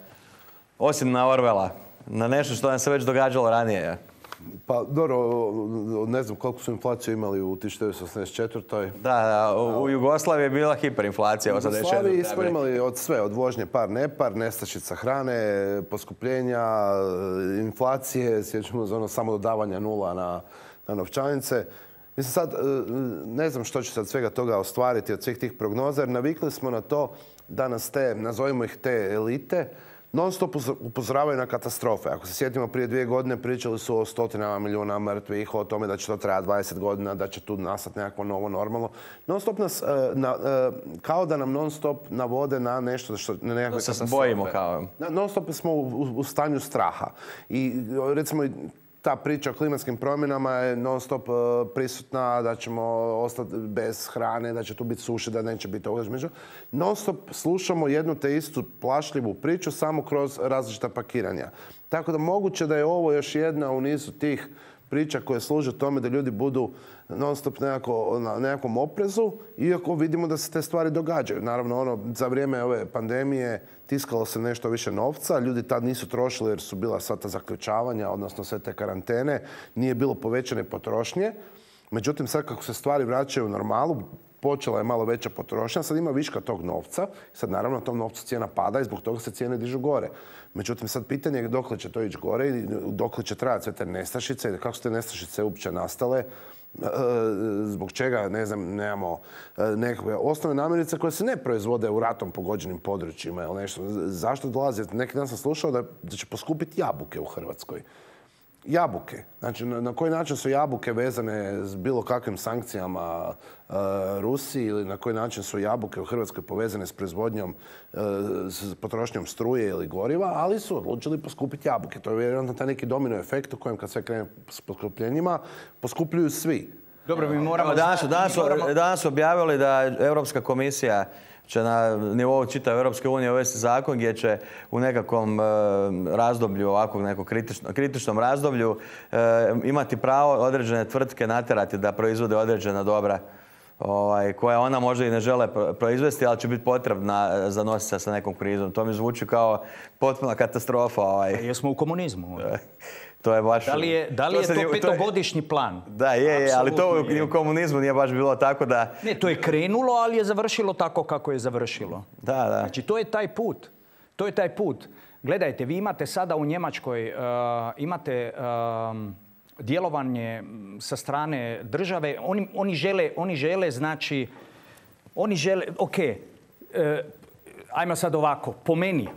osim na Orwella? Na nešto što nam se već događalo ranije? Pa dobro, ne znam koliko su inflaciju imali u 1984. Da, u Jugoslaviji je bila hiperinflacija. U Jugoslaviji smo imali od sve, od vožnje par, nestašica hrane, poskupljenja, inflacije, sjećamo za ono samo dodavanja nula na novčanice. Mislim sad, ne znam što će sad svega toga ostvariti od svih tih prognoza, jer navikli smo na to da nas nazovimo ih te elite, non stop upozoravaju na katastrofe. Ako se sjetimo, prije 2 godine pričali su o 100 milijuna mrtvih, o tome da će to trajati 20 godina, da će tu nastati nekako novo normalno. Non stop nas, kao da nam non stop navode na nešto što... Na nekakve katastrofe. Se bojimo kao... Non stop smo u stanju straha. I recimo ta priča o klimatskim promjenama je non stop prisutna, da ćemo ostati bez hrane, da će tu biti suše, da neće biti ovoga. Non stop slušamo jednu te istu plašljivu priču samo kroz različita pakiranja. Tako da moguće da je ovo još jedna u nizu tih priča koja služi tome da ljudi budu non stop na nekakvom oprezu, iako vidimo da se te stvari događaju. Naravno, za vrijeme ove pandemije tiskalo se nešto više novca, ljudi tad nisu trošili jer su bila sva ta zaključavanja, odnosno sve te karantene, nije bilo povećane potrošnje. Međutim, sad kako se stvari vraćaju u normalu, počela je malo veća potrošnja, sad ima viška tog novca, sad naravno tom novcu cijena pada i zbog toga se cijene dižu gore. Međutim, sad pitanje je dokle će to ići gore i dokle će trajati sve te nestašice i kako su te nestašice uopće nastale, zbog čega, ne znam, nemamo nekakve osnovne namirnice koje se ne proizvode u ratom pogođenim područjima ili nešto. Zašto dolazi? Neki dan sam slušao da će poskupiti jabuke u Hrvatskoj. Jabuke. Znači, na koji način su jabuke vezane s bilo kakvim sankcijama Rusiji ili na koji način su jabuke u Hrvatskoj povezane s proizvodnjom, s potrošnjom struje ili goriva, ali su odlučili poskupiti jabuke. To je vjerojatno taj neki domino efekt u kojem kad sve krene s poskupljenjima, poskupljuju svi. Dobro, mi moramo... Danas objavili da Europska komisija će na nivou čitave Europske unije uvesti zakon gdje će u nekakvom razdoblju, ovakvog nekog kritičnom razdoblju, imati pravo određene tvrtke natjerati da proizvode određena dobra koja ona možda i ne žele proizvesti, ali će biti potrebna za nositi se sa nekom krizom. To mi zvuči kao potpuna katastrofa. Jesmo u komunizmu. To je baš... Da li je to petogodišnji plan? Da, je, ali to i u komunizmu nije baš bilo tako da... Ne, to je krenulo, ali je završilo tako kako je završilo. Da. Znači, to je taj put. To je taj put. Gledajte, vi imate sada u Njemačkoj, imate djelovanje sa strane države. Oni žele, znači... Ajmo sad ovako, po meni,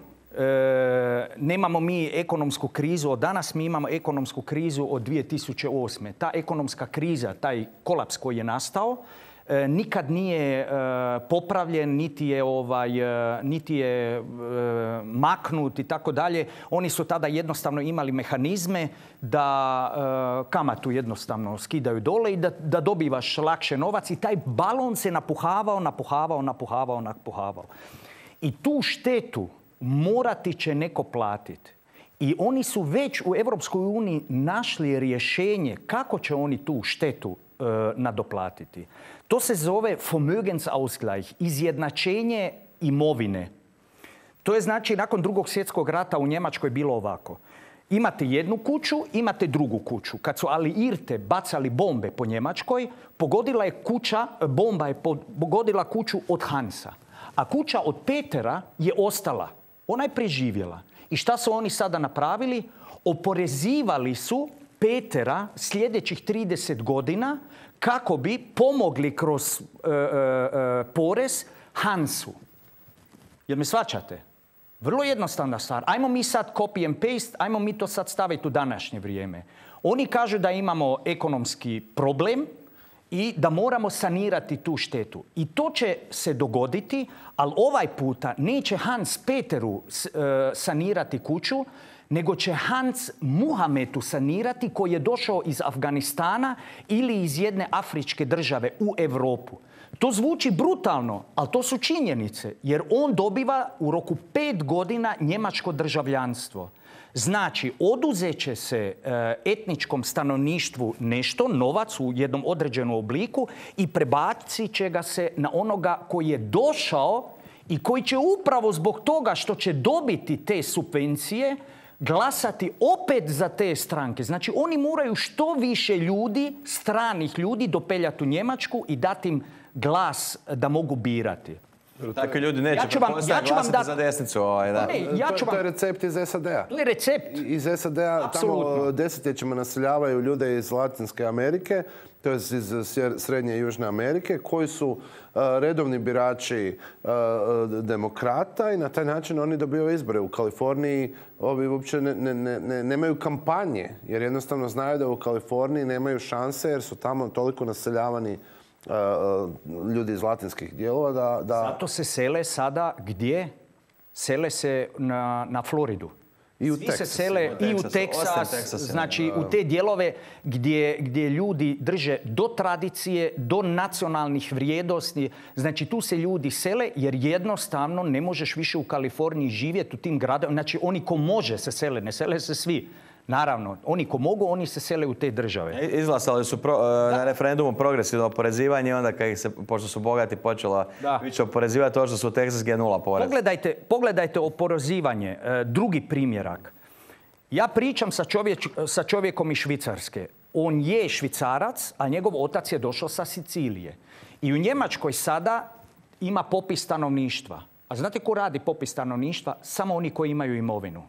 nemamo mi ekonomsku krizu od danas, mi imamo ekonomsku krizu od 2008. Ta ekonomska kriza, taj kolaps koji je nastao, nikad nije popravljen, niti je maknut i tako dalje. Oni su tada jednostavno imali mehanizme da kamatu jednostavno skidaju dole i da dobivaš lakše novac i taj balon se napuhavao. I tu štetu morati će neko platiti. I oni su već u Europskoj uniji našli rješenje kako će oni tu štetu nadoplatiti. To se zove Vermögensausgleich, izjednačenje imovine. To je znači nakon Drugog svjetskog rata u Njemačkoj bilo ovako. Imate jednu kuću, imate drugu kuću. Kad su Alliirte bacali bombe po Njemačkoj, bomba je pogodila kuću od Hansa. A kuća od Petera je ostala. Ona je preživjela. I šta su oni sada napravili? Oporezivali su Petera sljedećih 30 godina kako bi pomogli kroz porez Hansu. Jel me shvaćate? Vrlo jednostavna stvar. Ajmo mi sad copy and paste, ajmo mi to sad staviti u današnje vrijeme. Oni kažu da imamo ekonomski problem i da moramo sanirati tu štetu. I to će se dogoditi, ali ovaj puta neće Hans Peteru sanirati kuću, nego će Hans Muhamedu sanirati koji je došao iz Afganistana ili iz jedne afričke države u Europu. To zvuči brutalno, ali to su činjenice, jer on dobiva u roku 5 godina njemačko državljanstvo. Znači, oduzet će se etničkom stanovništvu nešto, novac u jednom određenom obliku i prebacit će ga se na onoga koji je došao i koji će upravo zbog toga što će dobiti te subvencije glasati opet za te stranke. Znači, oni moraju što više ljudi, stranih ljudi, dopeljati u Njemačku i dati im glas da mogu birati. Takvi ljudi neće glasati za desnicu. To je recept iz SAD-a. Iz SAD-a tamo desetljećima naseljavaju ljude iz Latinske Amerike, to je iz Srednje i Južne Amerike, koji su redovni birači demokrata i na taj način oni dobivaju izbore. U Kaliforniji ovi uopće nemaju kampanje, jer jednostavno znaju da u Kaliforniji nemaju šanse jer su tamo toliko naseljavani ljudi iz latinskih dijelova da... Zato se sele sada gdje? Sele se na Floridu. Svi se sele i u Teksas, znači u te dijelove gdje ljudi drže do tradicije, do nacionalnih vrijednosti. Znači tu se ljudi sele jer jednostavno ne možeš više u Kaliforniji živjeti u tim gradovima. Znači oni ko može se sele, ne sele se svi. Naravno, oni ko mogu, oni se sele u te države. Izglasali su na referendumu progresivno oporezivanje i onda kad ih se, pošto su bogati, počela više oporezivati to što su u Texas gdje 0 porez. Pogledajte oporezivanje. Drugi primjerak. Ja pričam sa čovjekom iz Švicarske. On je Švicarac, a njegov otac je došao sa Sicilije. I u Njemačkoj sada ima popis stanovništva. A znate ko radi popis stanovništva? Samo oni koji imaju imovinu.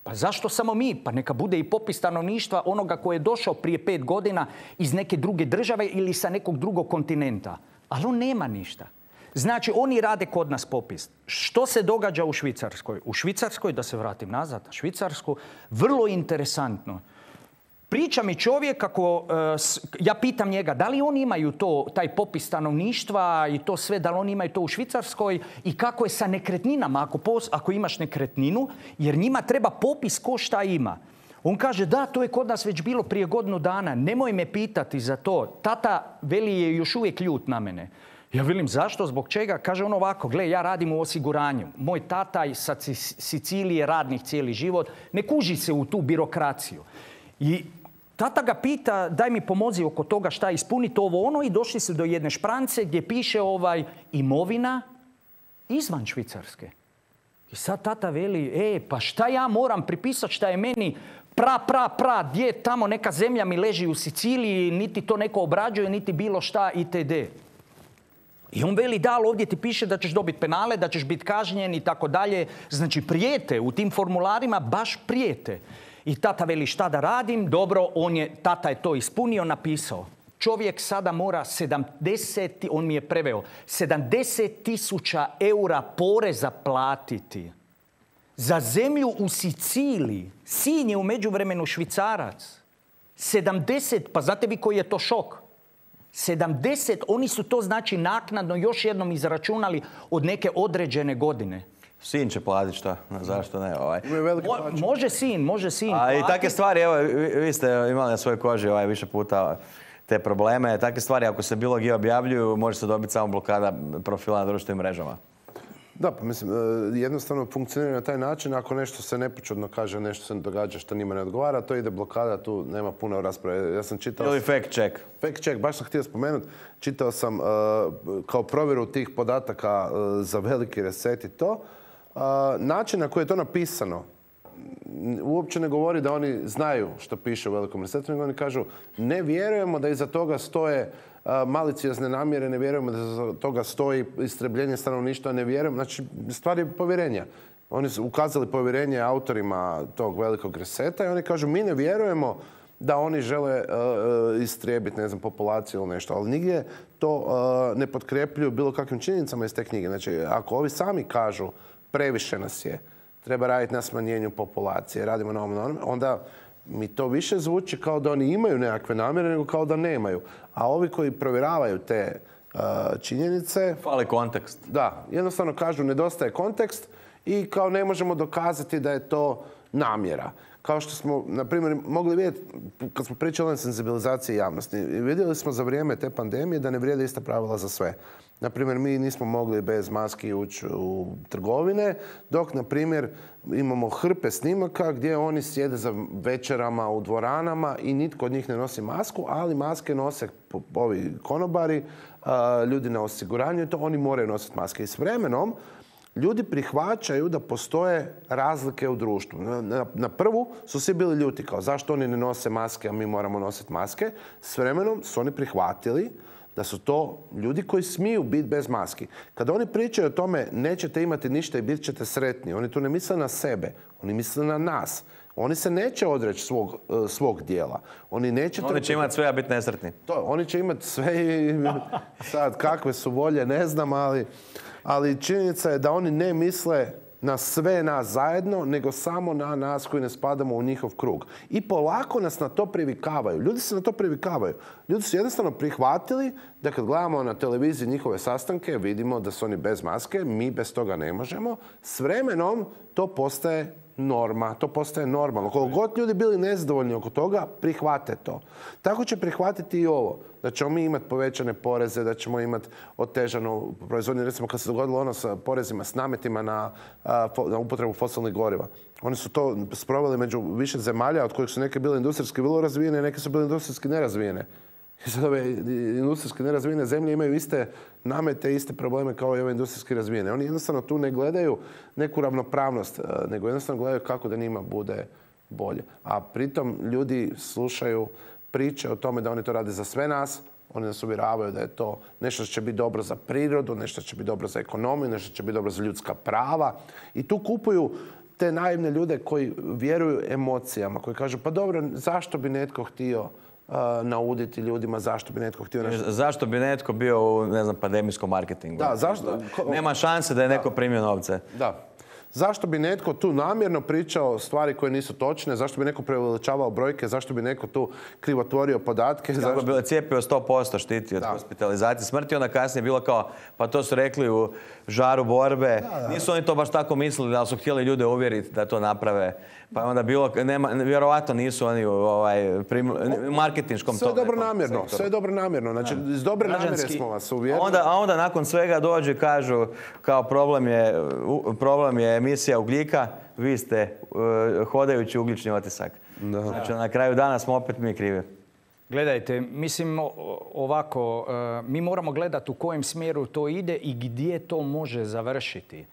Pa zašto samo mi? Pa neka bude i popis stanovništva onoga koji je došao prije 5 godina iz neke druge države ili sa nekog drugog kontinenta. Ali on nema ništa. Znači, oni rade kod nas popis. Što se događa u Švicarskoj? U Švicarskoj, da se vratim nazad na Švicarsku, vrlo interesantno. Priča mi čovjek kako, ja pitam njega, da li oni imaju taj popis stanovništva i to sve, da li oni imaju to u Švicarskoj i kako je sa nekretninama ako imaš nekretninu, jer njima treba popis ko šta ima. On kaže, da, to je kod nas već bilo prije godinu dana, nemoj me pitati za to. Tata, veli, je još uvijek ljut na mene. Ja velim, zašto, zbog čega? Kaže on ovako, gle, ja radim u osiguranju. Moj tata iz Sicilije, radnih cijeli život, ne kuži se u tu birokraciju. I tata ga pita, daj mi pomozi oko toga šta ispuniti ovo ono i došli su do jedne šprance gdje piše imovina izvan Švicarske. I sad tata veli, pa šta ja moram pripisati šta je meni gdje tamo neka zemlja mi leži u Siciliji, niti to neko obrađuje, niti bilo šta itd. I on veli, da, ali ovdje ti piše da ćeš dobiti penale, da ćeš biti kažnjen i tako dalje. Znači, prijete u tim formularima, baš prijete. I tata veli, šta da radim? Dobro, tata je to ispunio, napisao. Čovjek sada mora 70, on mi je preveo, 70.000 eura poreza platiti. Za zemlju u Siciliji. Sin je u međuvremenu Švicarac. 70, pa znate vi koji je to šok? 70, oni su to znači naknadno još jednom izračunali od neke određene godine. Sin će platiti šta? Zašto ne? Može sin. A i takve stvari, evo, vi ste imali na svojoj koži više puta te probleme. Takve stvari, ako se bilo gdje objavljuju, može se dobiti samo blokada profila na društvenim mrežama. Da, pa mislim, jednostavno funkcionira na taj način. Ako nešto se nepočudno kaže, nešto se događa što njima ne odgovara, to ide blokada, tu nema puno rasprave. Ja sam čitao... Ili fact check. Fact check, baš sam htio spomenuti. Čitao sam kao provjeru tih podataka za veliki reset i to. Način na koji je to napisano uopće ne govori da oni znaju što piše u velikom resetu, nego oni kažu ne vjerujemo da iza toga stoje maliciozne namjere, ne vjerujemo da iza toga stoji istrebljenje stanovništva, ne vjerujemo. Znači, stvar je povjerenja. Oni su ukazali povjerenje autorima tog velikog reseta i oni kažu mi ne vjerujemo da oni žele istrijebiti, ne znam, populaciju ili nešto. Ali nigdje to ne potkrepljuju bilo kakvim činjenicama iz te knjige. Znači, ako ovi sami kažu previše nas je, treba raditi na smanjenju populacije, radimo na ovom, onda mi to više zvuči kao da oni imaju nekakve namjere nego kao da nemaju. A ovi koji provjeravaju te činjenice... Fali kontekst. Da, jednostavno kažu nedostaje kontekst i kao ne možemo dokazati da je to namjera. Kao što smo, na primjer, mogli vidjeti kad smo pričali o senzibilizaciji javnosti. Vidjeli smo za vrijeme te pandemije da ne vrijede ista pravila za sve. Na primjer, mi nismo mogli bez maski ući u trgovine, dok, na primjer, imamo hrpe snimaka gdje oni sjede za večerama u dvoranama i nitko od njih ne nosi masku, ali maske nose ovi konobari, ljudi na osiguranju i to oni moraju nositi maske. I s vremenom ljudi prihvaćaju da postoje razlike u društvu. Na prvu su svi bili ljuti kao zašto oni ne nose maske, a mi moramo nositi maske. S vremenom su oni prihvatili da su to ljudi koji smiju biti bez maski. Kada oni pričaju o tome nećete imati ništa i bit ćete sretni, oni tu ne misle na sebe, oni misle na nas. Oni se neće odreći svog dijela. Oni će imati sve, a biti nesretni. Oni će imati sve i sad kakve su volje, ne znam, ali činjenica je da oni ne misle na sve nas zajedno, nego samo na nas koji ne spadamo u njihov krug. I polako nas na to privikavaju. Ljudi se na to privikavaju. Ljudi su jednostavno prihvatili da kad gledamo na televiziji njihove sastanke, vidimo da su oni bez maske, mi bez toga ne možemo. S vremenom to postaje norma, to postaje normalno. Koliko god ljudi bili nezadovoljni oko toga, prihvate to. Tako će prihvatiti i ovo. Da ćemo mi imati povećane poreze, da ćemo imati otežanu proizvodnju. Recimo kad se dogodilo ono sa porezima, s nametima na upotrebu fosilnih goriva. Oni su to sproveli među više zemalja, od kojih su neke bile industrijski vrlo razvijene, neke su bile industrijski nerazvijene. I sad ove industrijski nerazvijene zemlje imaju iste namete, iste probleme kao i ove industrijski razvijene. Oni jednostavno tu ne gledaju neku ravnopravnost, nego jednostavno gledaju kako da njima bude bolje. A pritom ljudi slušaju priče o tome da oni to rade za sve nas. Oni nas uvjeravaju da je to nešto što će biti dobro za prirodu, nešto što će biti dobro za ekonomiju, nešto što će biti dobro za ljudska prava. I tu kupuju te naivne ljude koji vjeruju emocijama, koji kažu pa dobro, zašto bi netko htio nauditi ljudima, zašto bi netko htio nešto... Zašto bi netko bio u, ne znam, pandemijskom marketingu? Da, zašto? Nema šanse da je neko primio novce. Da. Zašto bi netko tu namjerno pričao stvari koje nisu točne? Zašto bi neko preveličavao brojke? Zašto bi neko tu krivotvorio podatke? Kako bi bilo cijepio 100% štiti od hospitalizacije smrti, onda kasnije bilo kao, pa to su rekli u žaru borbe. Nisu oni to baš tako mislili, ali su htjeli ljude uvjeriti da to naprave. Pa onda bilo, vjerovatno nisu oni u marketinškom sve dobro namjerno, sve dobro namjerno. Znači, iz dobre namjere smo vas uvjerili. A onda nakon svega dođu i kažu kao problem je emisija ugljika, vi ste hodajući ugljični otisak. Znači, na kraju dana smo opet mi krivi. Gledajte, mislim ovako, mi moramo gledati u kojem smjeru to ide i gdje to može završiti.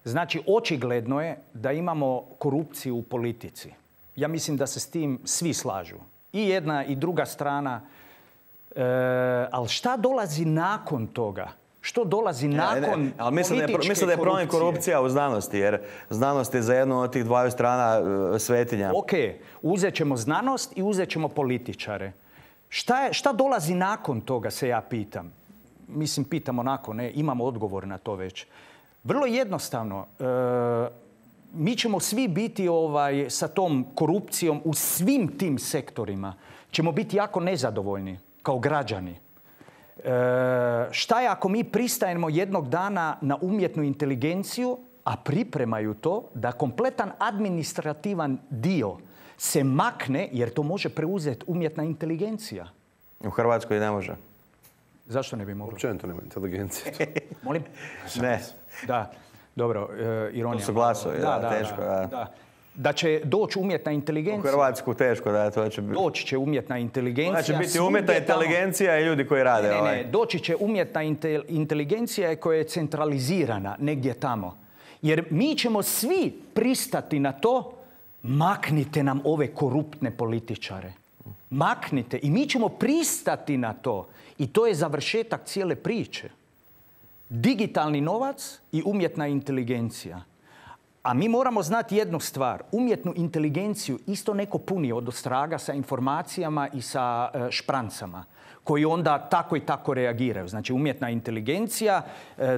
Znači, očigledno je da imamo korupciju u politici. Ja mislim da se s tim svi slažu. I jedna i druga strana. Ali šta dolazi nakon toga? Što dolazi nakon ali mislim da je problem korupcija u znanosti, jer znanost je za jednu od tih dvaju strana svetinja. Ok, uzet ćemo znanost i uzet ćemo političare. Šta dolazi nakon toga, se ja pitam. Mislim, pitam onako, ne, imamo odgovor na to već. Vrlo jednostavno, mi ćemo svi biti sa tom korupcijom u svim tim sektorima. Ćemo biti jako nezadovoljni kao građani. Šta je ako mi pristajemo jednog dana na umjetnu inteligenciju, a pripremaju to da kompletan administrativan dio se makne, jer to može preuzeti umjetna inteligencija? U Hrvatskoj ne može. Zašto ne bi moglo? Općenito nema inteligencije. Molim? Ne. Da, dobro, ironija. To su glasovi, teško. Da će doći umjetna inteligencija. U Hrvatsku teško, da, to će biti. Doći će umjetna inteligencija. Znači biti umjetna inteligencija i ljudi koji rade. Ne, doći će umjetna inteligencija koja je centralizirana negdje tamo. Jer mi ćemo svi pristati na to, maknite nam ove koruptne političare. Maknite. I mi ćemo pristati na to. I to je završetak cijele priče. Digitalni novac i umjetna inteligencija. A mi moramo znati jednu stvar. Umjetnu inteligenciju isto neko puni od ostraga sa informacijama i sa šprancama koji onda tako i tako reagiraju. Znači, umjetna inteligencija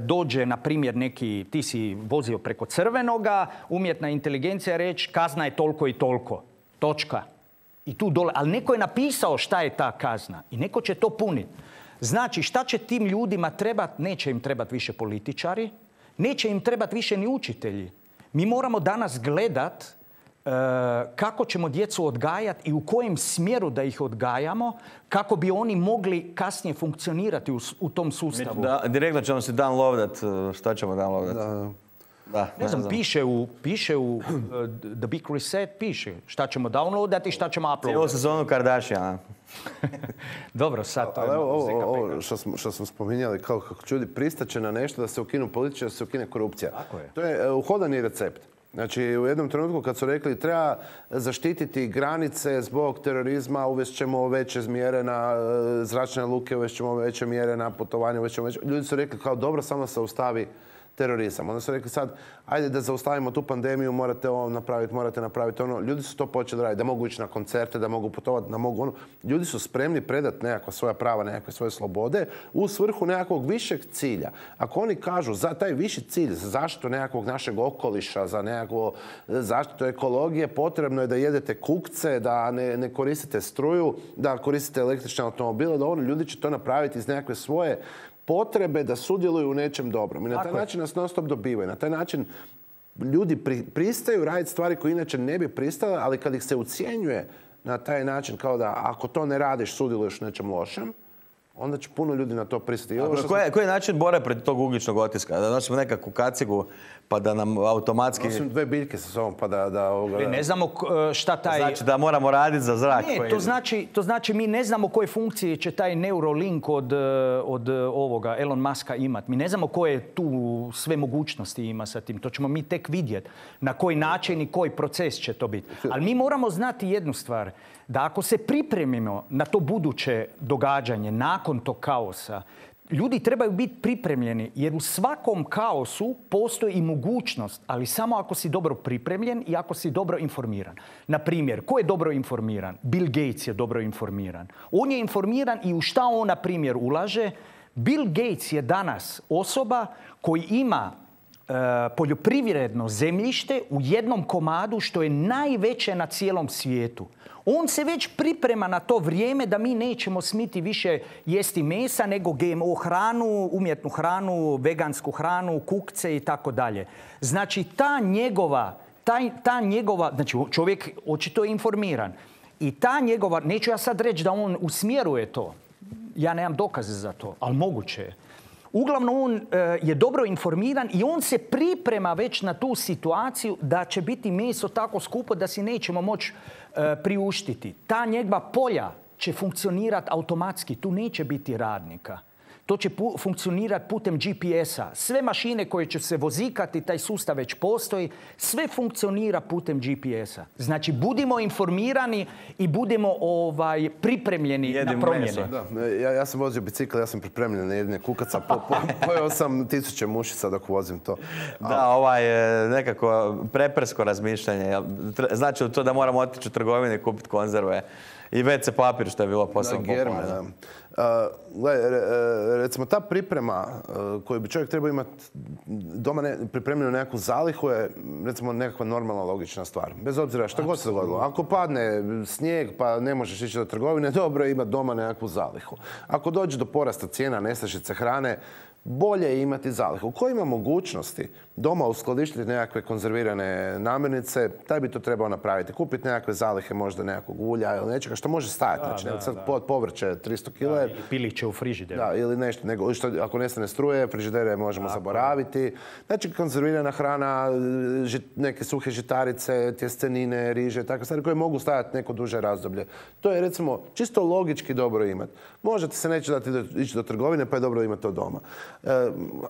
dođe, na primjer, neki, ti si vozio preko crvenoga, umjetna inteligencija reći kazna je toliko i toliko. Točka. I tu dole. Ali neko je napisao šta je ta kazna i neko će to puniti. Znači, šta će tim ljudima trebati? Neće im trebati više političari, neće im trebati više ni učitelji. Mi moramo danas gledat kako ćemo djecu odgajati i u kojem smjeru da ih odgajamo kako bi oni mogli kasnije funkcionirati u tom sustavu. Direktno ćemo se downloadat. Šta ćemo downloadat? Ne znam, piše u The Big Reset, piše šta ćemo downloadati i šta ćemo uploadati. Cijelu sezonu Kardashiana. Dobro, sad to je... Ovo što smo spominjali, kako ljudi pristaće na nešto da se ukinu političari, da se ukine korupcija. Tako je. To je uhodani recept. Znači, u jednom trenutku kad su rekli treba zaštititi granice zbog terorizma, uvest ćemo veće mjere na zračne luke, uvest ćemo veće mjere na putovanje, ljudi su rekli kao dobro, samo se zaustavi terorizam. Onda su rekli sad, ajde da zaustavimo tu pandemiju, morate ovo napraviti, morate napraviti ono. Ljudi su to počeli raditi, da mogu ići na koncerte, da mogu putovati, da mogu ono. Ljudi su spremni predati nekakva svoja prava, nekakve svoje slobode u svrhu nekakvog višeg cilja. Ako oni kažu za taj viši cilj, za zaštitu nekakvog našeg okoliša, za nekakvu zaštitu ekologije, potrebno je da jedete kukce, da ne koristite struju, da koristite električne automobile, da ono, ljudi će to napraviti iz nekakve svoje potrebe da sudjeluju u nečem dobrom. I na taj način nas non stop dobivaju. Na taj način ljudi pristaju raditi stvari koje inače ne bi pristale, ali kad ih se ucjenjuje na taj način kao da ako to ne radiš, sudjeluješ u nečem lošem, onda će puno ljudi na to pristati. Koji je način bore protiv tog ugljičnog otiska? Da nosimo nekakvu kacigu pa da nam automatski... Nosim 2 biljke sa sobom pa da... Ne znamo šta taj... Znači da moramo raditi za zrak. Ne, to znači mi ne znamo koje funkcije će taj Neuralink od ovoga Elon Muska imati. Mi ne znamo koje tu sve mogućnosti ima sa tim. To ćemo mi tek vidjeti. Na koji način i koji proces će to biti. Ali mi moramo znati jednu stvar. Da ako se pripremimo na to buduće događanje nakon tog kaosa, ljudi trebaju biti pripremljeni jer u svakom kaosu postoji i mogućnost, ali samo ako si dobro pripremljen i ako si dobro informiran. Na primjer, ko je dobro informiran? Bill Gates je dobro informiran. On je informiran i u šta on, na primjer, ulaže. Bill Gates je danas osoba koji ima poljoprivredno zemljište u jednom komadu što je najveće na cijelom svijetu. On se već priprema na to vrijeme da mi nećemo smiti više jesti mesa nego GMO hranu, umjetnu hranu, vegansku hranu, kukce i tako dalje. Znači ta njegova, znači čovjek očito je informiran. I ta njegova, neću ja sad reći da on usmjeruje to. Ja nemam dokaze za to, ali moguće je. Uglavnom, on je dobro informiran i on se priprema već na tu situaciju da će biti meso tako skupo da si nećemo moći priuštiti. Ta njegova polja će funkcionirati automatski. Tu neće biti radnika. To će funkcionirati putem GPS-a. Sve mašine koje će se vozikati, taj sustav već postoji, sve funkcionira putem GPS-a. Znači, budimo informirani i budemo pripremljeni na promjene. Ja sam vozio bicikl, ja sam pripremljen na jedne kukaca. Pojeo sam 1000 mušica dok vozim to. Da, nekako preprsko razmišljanje. Znači to da moramo otići u trgovinu i kupiti konzerve. I WC papir, što je bilo posebno popularno. Recimo, ta priprema koju bi čovjek trebao imati doma pripremljenu nekakvu zalihu je, recimo, nekakva normalna, logična stvar. Bez obzira što god se dogodilo. Ako padne snijeg pa ne možeš ići do trgovine, dobro je imati doma nekakvu zalihu. Ako dođe do porasta cijena nestašice hrane, bolje je imati zalihu. Ko ima mogućnosti doma uskladištiti nekakve konzervirane namirnice, taj bi to trebao napraviti. Kupiti nekakve zalihe, možda nekakvog ulja ili nečega što može stajati. Znači, sad povrće 300 kg. I piliće u frižideru. Da, ili nešto. Ako nestane struje, frižidere možemo zaboraviti. Znači, konzervirana hrana, neke suhe žitarice, tjestenine, riže, takve stvari koje mogu stajati neko duže razdoblje. To je, recimo, čisto logički dobro imati. Možete se neće dati ići do trgovine, pa je dobro imati to doma.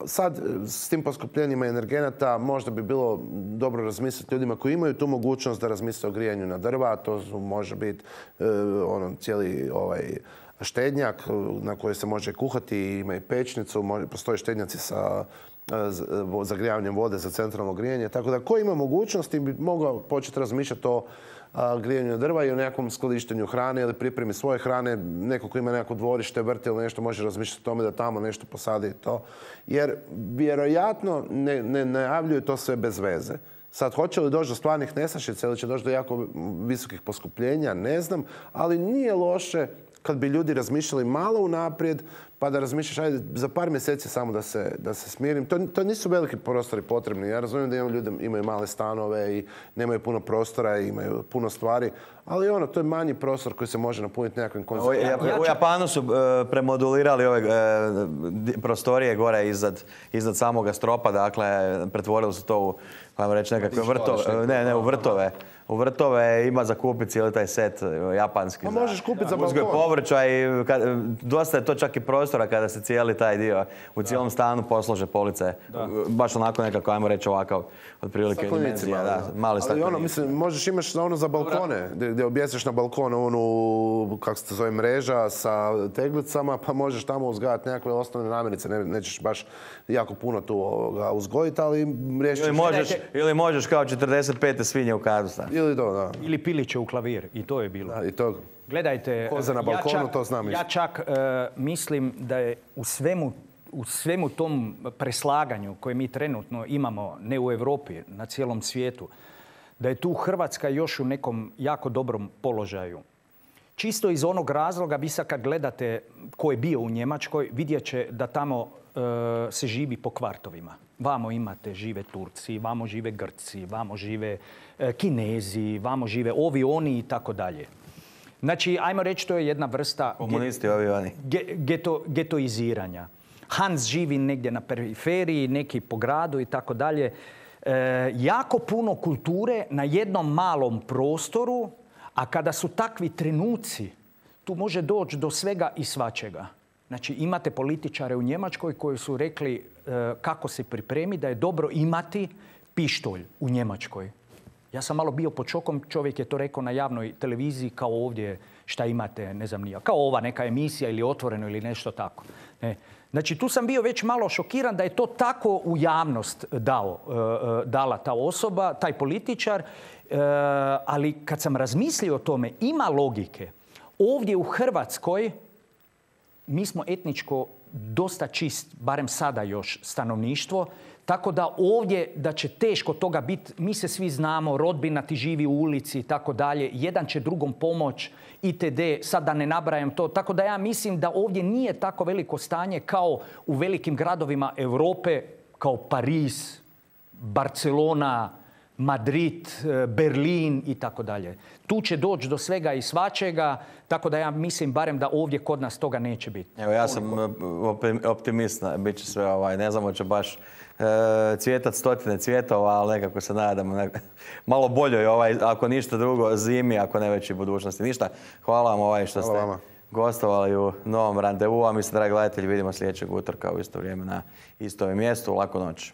Sad, s tim poskupljenjima energenata, možda bi bilo dobro razmisliti ljudima koji imaju tu mogućnost da razmisle o grijanju na drva. To može biti cijeli štednjak na koji se može kuhati, ima i pečnicu, postoje štednjaci sa zagrijavanjem vode za centralno grijanje. Tako da ko ima mogućnosti bi mogao početi razmišljati o grijanju drva i o nekakvom skladištenju hrane ili pripremi svoje hrane. Neko ko ima neko dvorište, vrt ili nešto može razmišljati o tome da tamo nešto posadi to. Jer vjerojatno ne najavljuju to sve bez veze. Sad, hoće li doći do stvarnih nestašica ili će doći do jako visokih poskupljenja, ne znam, ali nije loše kad bi ljudi razmišljali malo unaprijed, pa da razmišljaš, ajde, za par mjeseci samo da se smirim. To nisu veliki prostori potrebni. Ja razumijem da ljudi imaju male stanove i nemaju puno prostora i imaju puno stvari, ali to je manji prostor koji se može napuniti nekakvim konzervacijama. U Japanu su premodulirali ove prostorije gore iznad samoga stropa, dakle, pretvorili su to u, ajmo reći, nekakve vrtove. Ne, u vrtove. U vrtove ima za kupiti cijeli taj set japanski. Možeš kupiti za balkon. Uzgoj povrća i dosta je to čak i prostora kada se cijeli taj dio u cijelom stanu poslože police. Baš onako nekako, ajmo reći, ovakav otprilike dimenzija. Mali staklenici. Možeš imaš za balkone, gdje objesiš na balkonu kako se to zove, mreža sa teglicama, pa možeš tamo uzgajati nekakve osnovne namirnice. Nećeš baš jako puno tu uzgojiti, ali riješit ćeš. Ili možeš kao 45. svinje u kadu staviti. Ili piliće u klavir. I to je bilo. I to. Gledajte, koza na balkonu, to znam. Ja čak mislim da je u svemu tom preslaganju koje mi trenutno imamo, ne u Europi, na cijelom svijetu, da je tu Hrvatska još u nekom jako dobrom položaju. Čisto iz onog razloga, vi sad kad gledate ko je bio u Njemačkoj, vidjet će da tamo se živi po kvartovima. Vamo žive Turci, vamo žive Grci, vamo žive Kinezi, vamo žive ovi, oni i tako dalje. Znači, ajmo reći, to je jedna vrsta komunisti, ovi, oni. Getoiziranja. Hans živi negdje na periferiji, neki po gradu i tako dalje. Jako puno kulture na jednom malom prostoru, a kada su takvi trenuci, tu može doći do svega i svačega. Znači, imate političare u Njemačkoj koji su rekli kako se pripremi, da je dobro imati pištolj u Njemačkoj. Ja sam malo bio pod šokom, čovjek je to rekao na javnoj televiziji kao ovdje šta imate, ne znam nija, kao ova neka emisija ili Otvoreno ili nešto tako. Znači, tu sam bio već malo šokiran da je to tako u javnost dala ta osoba, taj političar, ali kad sam razmislio o tome, ima logike. Ovdje u Hrvatskoj mi smo etničko dosta čist, barem sada još, stanovništvo, tako da ovdje da će teško toga biti, mi se svi znamo, rodbina ti živi u ulici i tako dalje, jedan će drugom pomoć, itd., sad da ne nabrajam to. Tako da ja mislim da ovdje nije tako veliko stanje kao u velikim gradovima Europe, kao Pariz, Barcelona, Madrid, Berlin i tako dalje. Tu će doći do svega i svačega, tako da ja mislim barem da ovdje kod nas toga neće biti. Evo, ja sam optimist, bit će sve, ne znamo će baš cvjetat stotine cvjetova, ali nekako se nadamo malo boljoj, ako ništa drugo, zimi, ako ne već i budućnosti. Ništa, hvala vam što ste gostovali u novom randevu, a mi se, dragi gledatelji, vidimo sljedećeg utorka u isto vrijeme na istom mjestu. Laku noć.